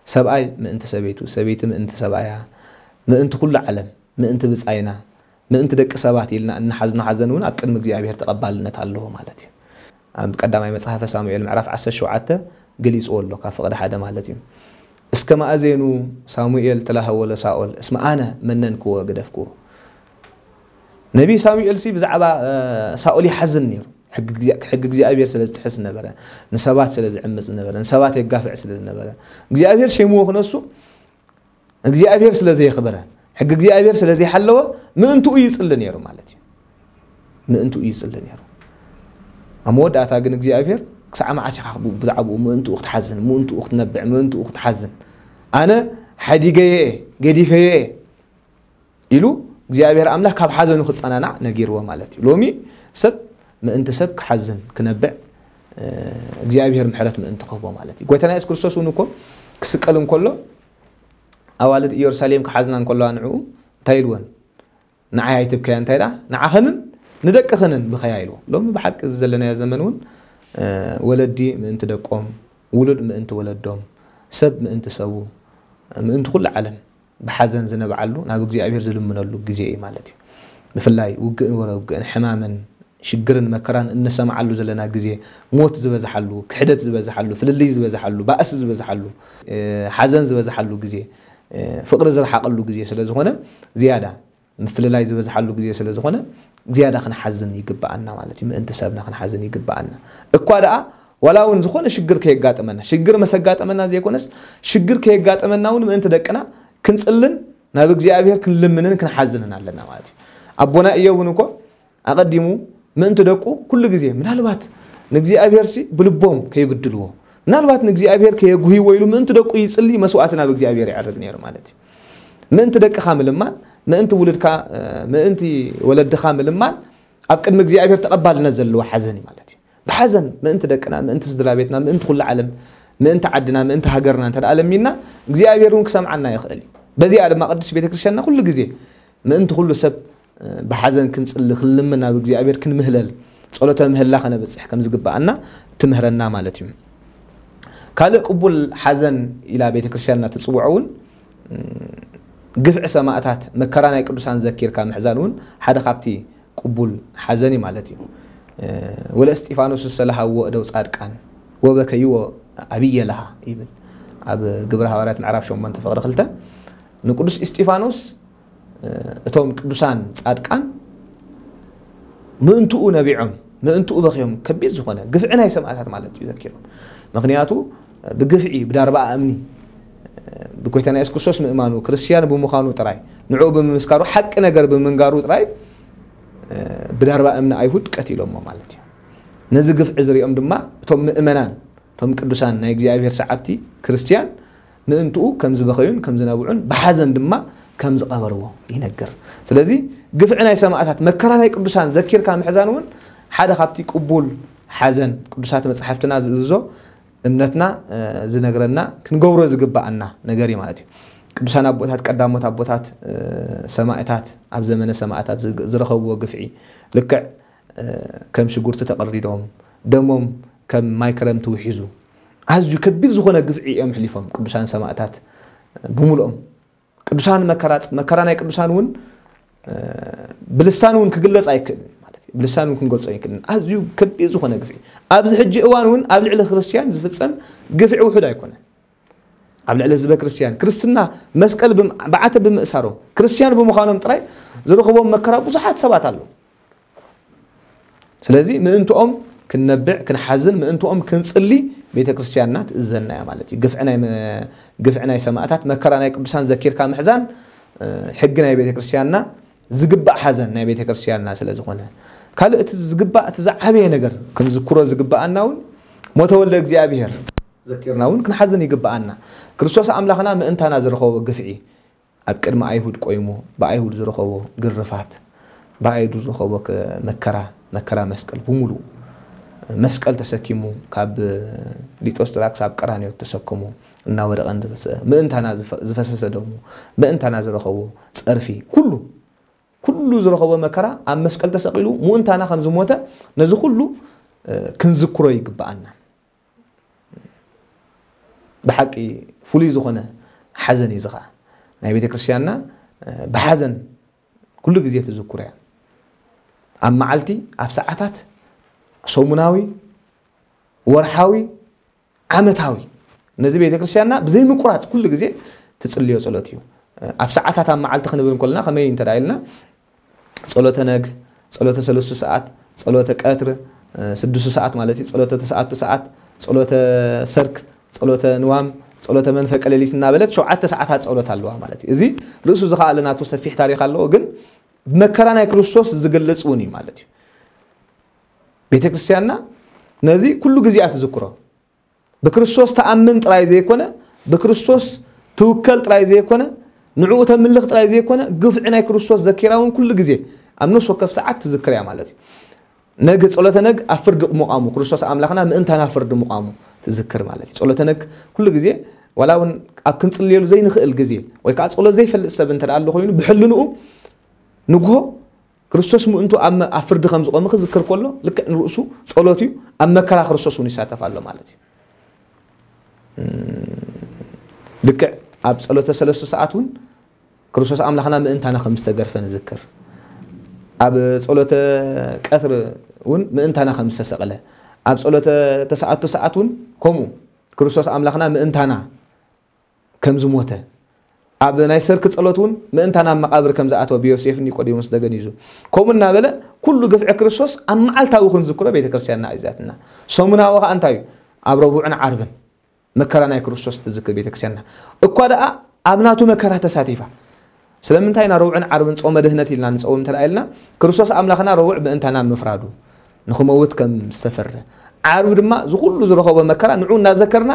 ሰብኣይ ምእንቲ ሰበይቱ፣ ሰበይቲ ምእንቲ ሰብኣያ፣ ምእንቲ ኩሉ ዓለም፣ ምእንቲ ብጻይና፣ ምእንቲ ደቂ ሰባት ኢልና እንሓዝኖ ሓዘን እውን ኣብ ቅድሚ እግዚኣብሔር ተቐባልነት ኣለዎ ማለት እዩ። ኣብ ቀዳማይ መጽሓፈ ሳሙኤል ምዕራፍ ዓሰርተ ሸውዓተ ገሊጽዎ ኣሎ፣ ካብ ፍቕዲ ሓደ ማለት እዩ። እስከ ማእዜኑ ሳሙኤል ተላሃወ ለሳኦል እስመ ኣነ መነንክዎ ገደፍክዎ። ነቢይ ሳሙኤል ሲ ብዛዕባ ሳኦል ይሓዝን ነይሩ። ሕጊ እግዚኣብሔር ስለ ዝጥሕስ ዝነበረ፣ ንሰባት ስለ ዝዕምፅ ዝነበረ፣ ንሰባት የጋፍዕ ስለ ዝነበረ እግዚኣብሔር ሸይምዎ ክነሱ እግዚኣብሔር ስለ ዘየኽበረ፣ ሕጊ እግዚኣብሔር ስለ ዘይሓለወ ምእንትኡ ይጽሊ ነይሩ ማለት እዩ። ምእንትኡ ይጽሊ ነይሩ። ኣብ መወዳእታ ግን እግዚኣብሔር ክሳዕ መዓስ ኢኻ ብዛዕባኡ ምእንትኡ ክትሓዝን፣ ምእንትኡ ክትነብዕ፣ ምእንትኡ ክትሓዝን? ኣነ ሓዲገዮ እየ፣ ገዲፈዮ እየ ኢሉ እግዚኣብሔር ኣምላኽ ካብ ሓዘኑ ክጸናናዕ ነጊርዎ ማለት እዩ። ሎሚ ሰብ ምእንቲ ሰብ ክሓዝን ክነብዕ እግዚኣብሔር ምሕረት ምእንቲ ክህቦ ማለት እዩ። ጎይታና የሱስ ክርስቶስ እውን እኮ ክስቀል እንከሎ ኣዋልድ ኢየሩሳሌም ክሓዝና እንከለዋ ንዕኡ እንታይ ኢልወን? ንዓይ ኣይትብከያ እንታይ ደኣ ንዓኸንን ንደቅኸንን ብኸያ ኢልዎ። ሎሚ ብሓቂ እዚ ዘለናዮ ዘመን እውን ወለዲ ምእንቲ ደቆም፣ ውሉድ ምእንቲ ወለዶም፣ ሰብ ምእንቲ ሰቡ፣ ምእንቲ ኩሉ ዓለም ብሓዘን ዝነብዓሉ ናብ እግዚኣብሔር ዝልምነሉ ግዜ እዩ ማለት እዩ። ብፍላይ ውግእን ወረ ውግእን ሕማምን ሽግርን መከራን እነሰምዓሉ ዘለና ግዜ፣ ሞት ዝበዝሓሉ፣ ክሕደት ዝበዝሓሉ፣ ፍልልይ ዝበዝሓሉ፣ ባእሲ ዝበዝሓሉ፣ ሓዘን ዝበዝሓሉ ግዜ፣ ፍቕሪ ዝረሓቐሉ ግዜ ስለ ዝኾነ ዝያዳ ምፍልላይ ዝበዝሓሉ ግዜ ስለ ዝኾነ ዝያዳ ክንሓዝን ይግብኣና ማለት እዩ። ምእንቲ ሰብና ክንሓዝን ይግብኣና እኳ ደኣ ዋላ እውን ዝኾነ ሽግር ከየጋጥመና ሽግር መሰጋጠመና ዘይኮነስ ሽግር ከየጋጠመና እውን ምእንቲ ደቅና ክንጽልን ናብ እግዚኣብሔር ክንልምንን ክንሓዝንን ኣለና ማለት እዩ። ኣቦና እዮብ እውን እኮ ኣቐዲሙ ምእንቲ ደቁ ኩሉ ግዜ ምናልባት ንእግዚኣብሔር ሲ ብልቦም ከይብድልዎ ምናልባት ንእግዚኣብሔር ከየጉህይዎ ኢሉ ምእንቲ ደቁ ይጽሊ መስዋዕቲ ናብ እግዚኣብሔር የዕርግ ነይሩ ማለት እዩ። ምእንቲ ደቅኻ ምልማን ምእንቲ ውልድካ ምእንቲ ወለድኻ ምልማን ኣብ ቅድሚ እግዚኣብሔር ተቐባልነት ዘለዎ ሓዘን እዩ ማለት እዩ። ብሓዘን ምእንቲ ደቅና ምእንቲ ስድራ ቤትና ምእንቲ ኩሉ ዓለም ምእንቲ ዓድና ምእንቲ ሃገርና እንተ ለሚንና እግዚኣብሔር እውን ክሰምዓና ይኽእል እዩ። በዚኣ ድማ ቅድስት ቤተክርስትያንና ኩሉ ግዜ ምእንቲ ኩሉ ሰብ ብሓዘን ክንጽሊ ክንልምን ናብ እግዚኣብሔር ክንምህለል ጸሎተ ምህላ ከነብጽሕ ከም ዝግብኣና ትምህረና ማለት እዩ። ካልእ ቅቡል ሓዘን ኢላ ቤተክርስትያንና ትጽውዖ እውን ግፍዒ ሰማእታት መከራ ናይ ቅዱሳን ዘኪርካ ምሕዛን እውን ሓደ ካብቲ ቅቡል ሓዘን እዩ ማለት እዩ። ወለ እስጢፋኖስ ዝተለሃዎ እደው ጻድቃን ወበከይዎ ኣብየ ለሃ ይብል ኣብ ግብረ ሃዋርያት ምዕራፍ ሸሞንተ ፍቕሪ ክልተ ንቅዱስ እስጢፋኖስ እቶም ቅዱሳን ጻድቃን ምእንትኡ ነቢዖም ምእንትኡ በኺዮም ከቢድ ዝኾነ ግፍዒ ናይ ሰማእታት ማለት እዩ ዘኪሮም። ምክንያቱ ብግፍዒ ብዳርባ እምኒ ብጎይታና የሱስ ክርስቶስ ምእማኑ ክርስትያን ብምዃኑ ጥራይ ንዕኡ ብምምስካሩ ሓቂ ነገር ብምንጋሩ ጥራይ ብዳርባ እምኒ ኣይሁድ ቀቲሎሞ ማለት እዩ። ነዚ ግፍዒ ዝሪኦም ድማ እቶም ምእመናን እቶም ቅዱሳን ናይ እግዚኣብሔር ሰዓብቲ ክርስትያን ምእንትኡ ከም ዝበኸዩን ከም ዝነብዑን ብሓዘን ድማ ከም ዝቐበርዎ ይነግር። ስለዚ ግፍዒ ናይ ሰማእታት መከራ ናይ ቅዱሳን ዘኪርካ ምሕዛን እውን ሓደ ካብቲ ቅቡል ሓዘን ቅዱሳት መጻሕፍትና ዝእዝዞ እምነትና ዝነግረና ክንገብሮ ዝግብኣና ነገር እዩ ማለት እዩ። ቅዱሳን ኣቦታት ቀዳሞት ኣቦታት ሰማእታት ኣብ ዘመነ ሰማእታት ዝረኸብዎ ግፍዒ ልክዕ ከም ሽጉርቲ ተቐሪዶም ደሞም ከም ማይ ክረምቲ ውሒዙ ኣዝዩ ከቢድ ዝኾነ ግፍዒ እዮም ሕሊፎም ቅዱሳን ሰማእታት ብምሉኦም። ቅዱሳን መከራ መከራ ናይ ቅዱሳን እውን ብልሳን እውን ክግለጽ ኣይክእልን ማለት እዩ። ብልሳን እውን ክንገልጾ ኣይክእልን። ኣዝዩ ከቢድ ዝኾነ ግፍዒ ኣብዚ ሕጂ እዋን እውን ኣብ ልዕሊ ክርስትያን ዝፍጸም ግፍዒ ውሑድ ኣይኮነን። ኣብ ልዕሊ ህዝበ ክርስትያን ክርስትና መስቀል ብዓተ ብምእሳሮም ክርስትያን ብምዃኖም ጥራይ ዝረኽቦም መከራ ብዙሓት ሰባት ኣለዉ። ስለዚ ምእንትኦም ክንነብዕ ክንሓዝን ምእንትኦም ክንጽሊ ቤተ ክርስትያንና ትእዘና እያ ማለት እዩ። ግፍዒ ናይ ሰማእታት መከራ ናይ ቅዱሳን ዘኪርካ ምሕዛን ሕጊ ናይ ቤተ ክርስትያንና ዝግባእ ሓዘን ናይ ቤተ ክርስትያንና ስለ ዝኾነ ካልእ እቲ ዝግባእ እቲ ዝዓበየ ነገር ክንዝክሮ ዝግባኣና እውን ሞተ ወልደ እግዚኣብሔር ዘኪርና እውን ክንሓዝን ይግባኣና። ክርስቶስ ኣምላኽና ምእንታና ዝረኸቦ ግፍዒ ኣብ ቅድሚ ኣይሁድ ቆይሙ ብኣይሁድ ዝረኸቦ ግርፋት ብኣይሁድ ዝረኸቦ መከራ መከራ መስቀል ብምሉእ መስቀል ተሰኪሙ ካብ ሊጦስ ጥራ ክሳብ ቀራንዮ ተሰክሙ እናወደቐ እንተተስአ ምእንታና ዝፈሰሰ ደሙ ምእንታና ዝረኸቦ ጸርፊ ኩሉ ኩሉ ዝረኸቦ መከራ ኣብ መስቀል ተሰቒሉ ምእንታና ከም ዝሞተ ነዚ ኩሉ ክንዝክሮ ይግብኣና። ብሓቂ ፍሉይ ዝኾነ ሓዘን እዩ። እዚ ኸዓ ናይ ቤተ ክርስትያንና ብሓዘን ኩሉ ግዜ ትዝክሮ እያ። ኣብ መዓልቲ ኣብ ሰዓታት ሰሙናዊ ወርሓዊ ዓመታዊ ነዚ ቤተ ክርስትያንና ብዘይ ምቁራጽ ኩሉ ግዜ ትጽልዮ ጸሎት እዩ። ኣብ ሰዓታት ኣብ መዓልቲ ክንብል እንከለና ከመይ እንተ ኢልና ጸሎተ ነግ፣ ጸሎተ ሰለስቱ ሰዓት፣ ጸሎተ ቀትር ስድስቱ ሰዓት ማለት እዩ፣ ጸሎተ ተስዓቱ ሰዓት፣ ጸሎተ ሰርክ፣ ጸሎተ ንዋም፣ ጸሎተ መንፈቀ ሌሊት እናበለት ሸውዓተ ሰዓታት ጸሎት ኣለዋ ማለት እዩ። እዚ ርእሱ ዝኸኣለ ናቱ ሰፊሕ ታሪኽ ኣለዎ፣ ግን መከራ ናይ ክርስቶስ ዝገልጽ እውን እዩ ማለት እዩ። ቤተ ክርስትያንና ነዚ ኩሉ ግዜ እያ ትዝክሮ። ብክርስቶስ ተኣምን ጥራይ ዘይኮነ ብክርስቶስ ትውከል ጥራይ ዘይኮነ፣ ንዕኡ ተምልኽ ጥራይ ዘይኮነ፣ ግፍዒ ናይ ክርስቶስ ዘኪራ እውን ኩሉ ግዜ ኣብ ነፍሲ ወከፍ ሰዓት ትዝክር እያ ማለት እዩ። ነግ፣ ጸሎተ ነግ ኣብ ፍርዲ ምዃሙ፣ ክርስቶስ ኣምላኽና ምእንታና ፍርዲ ምዃሙ ትዝክር ማለት እዩ። ጸሎተ ነግ ኩሉ ግዜ፣ ዋላ እውን ኣብ ክንጽልየሉ ዘይንኽእል ግዜ፣ ወይ ከዓ ጸሎት ዘይፈልጥ ሰብ እንተ ደኣ ኣሎ ኮይኑ፣ ብሕልንኡ ንግሆ ክርስቶስ ምእንቱ ኣብ መ-፣ ኣብ ፍርዲ ከም ዝቖመ ክዝክር ከሎ፣ ልክዕ ንርእሱ ጸሎት እዩ፣ ኣብ መከራ ክርስቶስ እውን ይሳተፍ ኣሎ ማለት እዩ። እም፣ ልክዕ ኣብ ጸሎተ ሰለስቱ ሰዓት እውን ክርስቶስ ኣምላኽና ምእንታና ከም ዝተገርፈ ንዝክር። ኣብ ጸሎተ ቀትር እውን ምእንታና ከም ዝተሰቕለ፣ ኣብ ጸሎተ ተሰዓቱ ሰዓት እውን ከምኡ ክርስቶስ ኣምላኽና ምእንታና ከም ዝሞተ፣ ኣብ ናይ ሰርክ ጸሎት እውን ምእንታና ኣብ መቓብር ከም ዝኣተወ ብዮሴፍ ኒቆዲሞስ ተገኒዙ። ከምኡ እናበለ ኩሉ ግፍዒ ክርስቶስ ኣብ መዓልታዊ ክንዝክሮ ቤተ ክርስቲያንና ኣዚዛትና። ሰሙናዊ ኸኣ እንታይ እዩ? ኣብ ረቡዕን ዓርብን መከራ ናይ ክርስቶስ ትዝክር ቤተ ክርስቲያንና። እኳ ደኣ ኣብ ናቱ መከራ ተሳቲፋ። ስለምንታይ ኢና ረቡዕን ዓርብን ጾመ ድህነት ኢልና ንጸውም እንተ ደኣ ኢልና፣ ክርስቶስ ኣምላኽና ረቡዕ ምእንታና ምፍራዱ፣ ንኽመውት ከም ዝተፈረ፣ ዓርቢ ድማ እዚ ኩሉ ዝረኸቦ መከራ ንዑ እናዘከርና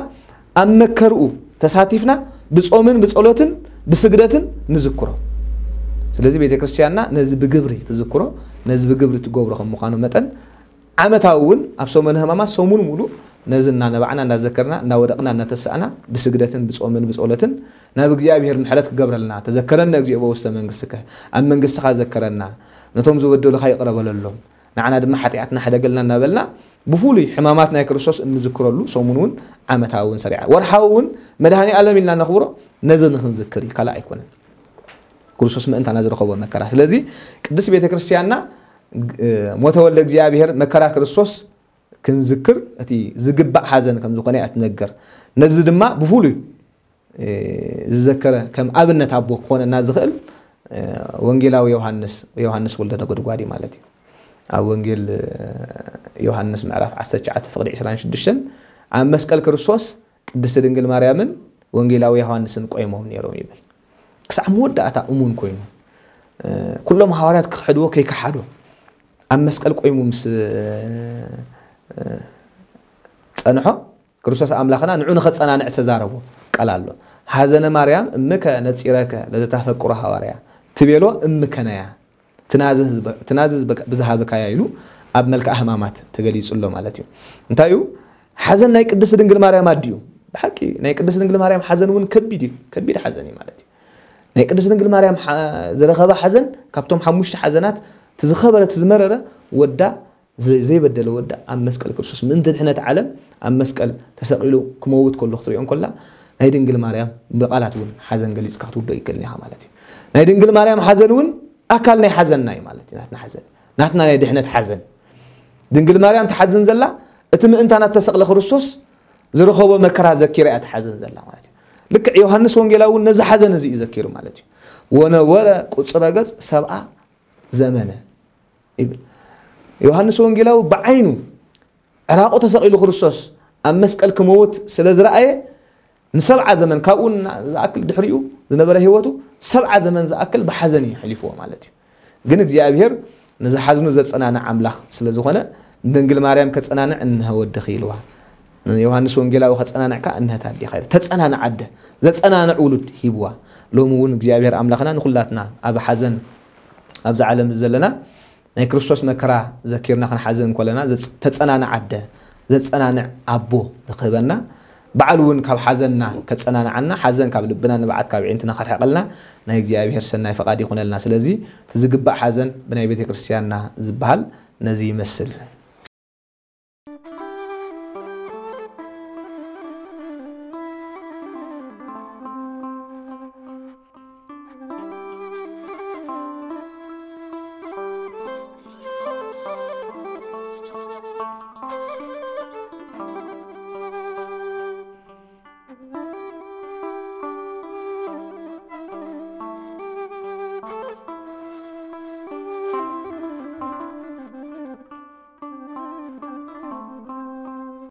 ኣብ መከርኡ ተሳቲፍና ብጾምን ብጸሎትን ብስግደትን ንዝክሮ። ስለዚ ቤተ ክርስቲያንና ነዚ ብግብሪ ትዝክሮ፣ ነዚ ብግብሪ ትገብሮ ከም ምዃኑ መጠን ዓመታዊ እውን ኣብ ሰሙነ ሕማማት ሰሙን ሙሉእ ነዚ እናነባዕና እናዘከርና እናወደቕና እናተሳእና ብስግደትን ብጾምን ብጸሎትን ናብ እግዚኣብሔር ምሕረት ክገብረልና፣ ተዘከረነ እግዚኦ በውስተ መንግሥትከ፣ ኣብ መንግሥትኻ ዘከረና፣ ነቶም ዝበደሉኻ ይቕረ በለሎም፣ ንዓና ድማ ሓጢኣትና ሕደገልና እናበልና ብፍሉይ ሕማማት ናይ ክርስቶስ እንዝክረሉ ሰሙን እውን ዓመታዊ እውን ሰሪዓ፣ ወርሓዊ እውን መድኃኔ ዓለም ኢልና ነኽብሮ ነዚ ንኽንዝክር እዩ፣ ካልእ ኣይኮነን። ክርስቶስ ምእንታና ዝረኸቦ መከራ። ስለዚ ቅድስት ቤተ ክርስቲያንና ግ-፣ ሞተ ወልደ እግዚኣብሔር መከራ ክርስቶስ ክንዝክር እቲ ዝግባእ ሓዘን ከም ዝኾነ እያ ትነግር። ነዚ ድማ ብፍሉይ፣ እ፣ ዝዘከረ ከም ኣብነት ኣቦ ክኾነና ዝኽእል፣ እ፣ ወንጌላዊ ዮሃንስ፣ ዮሃንስ ወልደ ነጎድጓድ እዩ ማለት እዩ። ኣብ ወንጌል፣ እ፣ ዮሃንስ ምዕራፍ ዓሰርተ ትሽዓተ ፍቕዲ ዕስራን ሽዱሽተን ኣብ መስቀል ክርስቶስ ቅድስቲ ድንግል ማርያምን ወንጌላዊ ዮሃንስን ቆይሞም ነይሮም ይብል። ክሳዕ መወዳእታ እሙን ኮይኑ፣ እ፣ ኩሎም ሃዋርያት ክኽሕድዎ ከይከሓዶ ኣብ መስቀል ቆይሙ ምስ፣ እ፣ ጸንሖ፣ ክርስቶስ ኣምላኽና ንዑ ንኸጸናንዕ ዝተዛረቦ ቃል ኣሎ። "ሐዘነ ማርያም እምከ ነጺረከ ለዘታፈቅሮ ሃዋርያ" ትቤሎ እምከነያ። ትናዝዝ በ-፣ ትናዝዝ በ-፣ ብዝሃብካያ ኢሉ ኣብ መልክዓ ሕማማት ተገሊጹ ኣሎ ማለት እዩ። እንታይ እዩ? ሓዘን ናይ ቅድስቲ ድንግል ማርያም ኣድዩ። ብሓቂ ናይ ቅድስቲ ድንግል ማርያም ሓዘን እውን ከቢድ እዩ። ከቢድ ሓዘን እዩ ማለት እዩ። ናይ ቅድስቲ ድንግል ማርያም ሓ-፣ ዝረኸባ ሓዘን ካብቶም ሓሙሽተ ሓዘናት እቲ ዝኸበረ፣ እቲ ዝመረረ ወዳ ዘ-፣ ዘይበደለ ወዳ ኣብ መስቀል ክርስቶስ ምእንቲ ድሕነት ዓለም ኣብ መስቀል ተሰቒሉ ክመውት ከሎ ክትሪኦ እንከላ ናይ ድንግል ማርያም ብቓላት እውን ሓዘን ገሊጽካ ክትውዶ ይከልን ኢኻ ማለት እዩ። ናይ ድንግል ማርያም ሓዘን እውን ኣካል ናይ ሓዘንና እዩ ማለት እዩ። ናትና ሓዘን፣ ናትና ናይ ድሕነት ሓዘን። ድንግል ማርያም ትሓዝን ዘላ እቲ ምእንታና ተሰቕለ ክርስቶስ ዝረኸቦ መከራ ዘኪራ እያ ትሓዘን ዘላ ማለት እዩ። ልክዕ ዮሃንስ ወንጌላዊ እውን ነዚ ሓዘን እዚ እዩ ዘኪሩ ማለት እዩ። "ወነበረ ቁጽረ ገጽ ሰብኣ ዘመነ" ይብል። ዮሃንስ ወንጌላዊ ብዓይኑ ዕራቑ ተሰቒሉ ክርስቶስ ኣብ መስቀል ክመውት ስለ ዝረኣየ ንሰብዓ ዘመን፣ ካብኡ ና-፣ ዝኣክል ድሕሪኡ ዝነበረ ህይወቱ ሰብዓ ዘመን ዝኣክል ብሓዘን እዩ ኣሕሊፍዎ ማለት እዩ። ግን እግዚኣብሔር ንዝሓዝኑ ዘጸናንዕ ኣምላኽ ስለ ዝኾነ፣ "ንድንግል ማርያም ከጸናንዕ እንሀ ወድኺ" ኢልዋ። ንዮሃንስ ወንጌላዊ "ከጸናንዕካ እንሀት ኣዴኻ" ኢሉ። ተጸናንዕ ኣደ፣ ዘጸናንዕ ውሉድ ሂብዋ። ሎሚ እውን እግዚኣብሔር ኣምላኽና ንኹላትና ኣብ ሓዘን ኣብዚ ዓለም ዘለና ናይ ክርስቶስ መከራ ዘኪርና ክንሓዝን እንከለና ዘጽ-፣ ተጸናንዕ ኣደ፣ ዘጸናንዕ ኣቦ ንክህበና፣ ባዕሉ እውን ካብ ሓዘንና ከጸናንዓና፣ ሓዘን ካብ ልብና፣ ንብዓት ካብ ኣዒንትና ከርሕቐልና ናይ እግዚኣብሔር ሰናይ ፈቓድ ይኹነልና። ስለዚ እቲ ዝግባእ ሓዘን ብናይ ቤተ ክርስቲያንና ዝበሃል ነዚ ይመስል።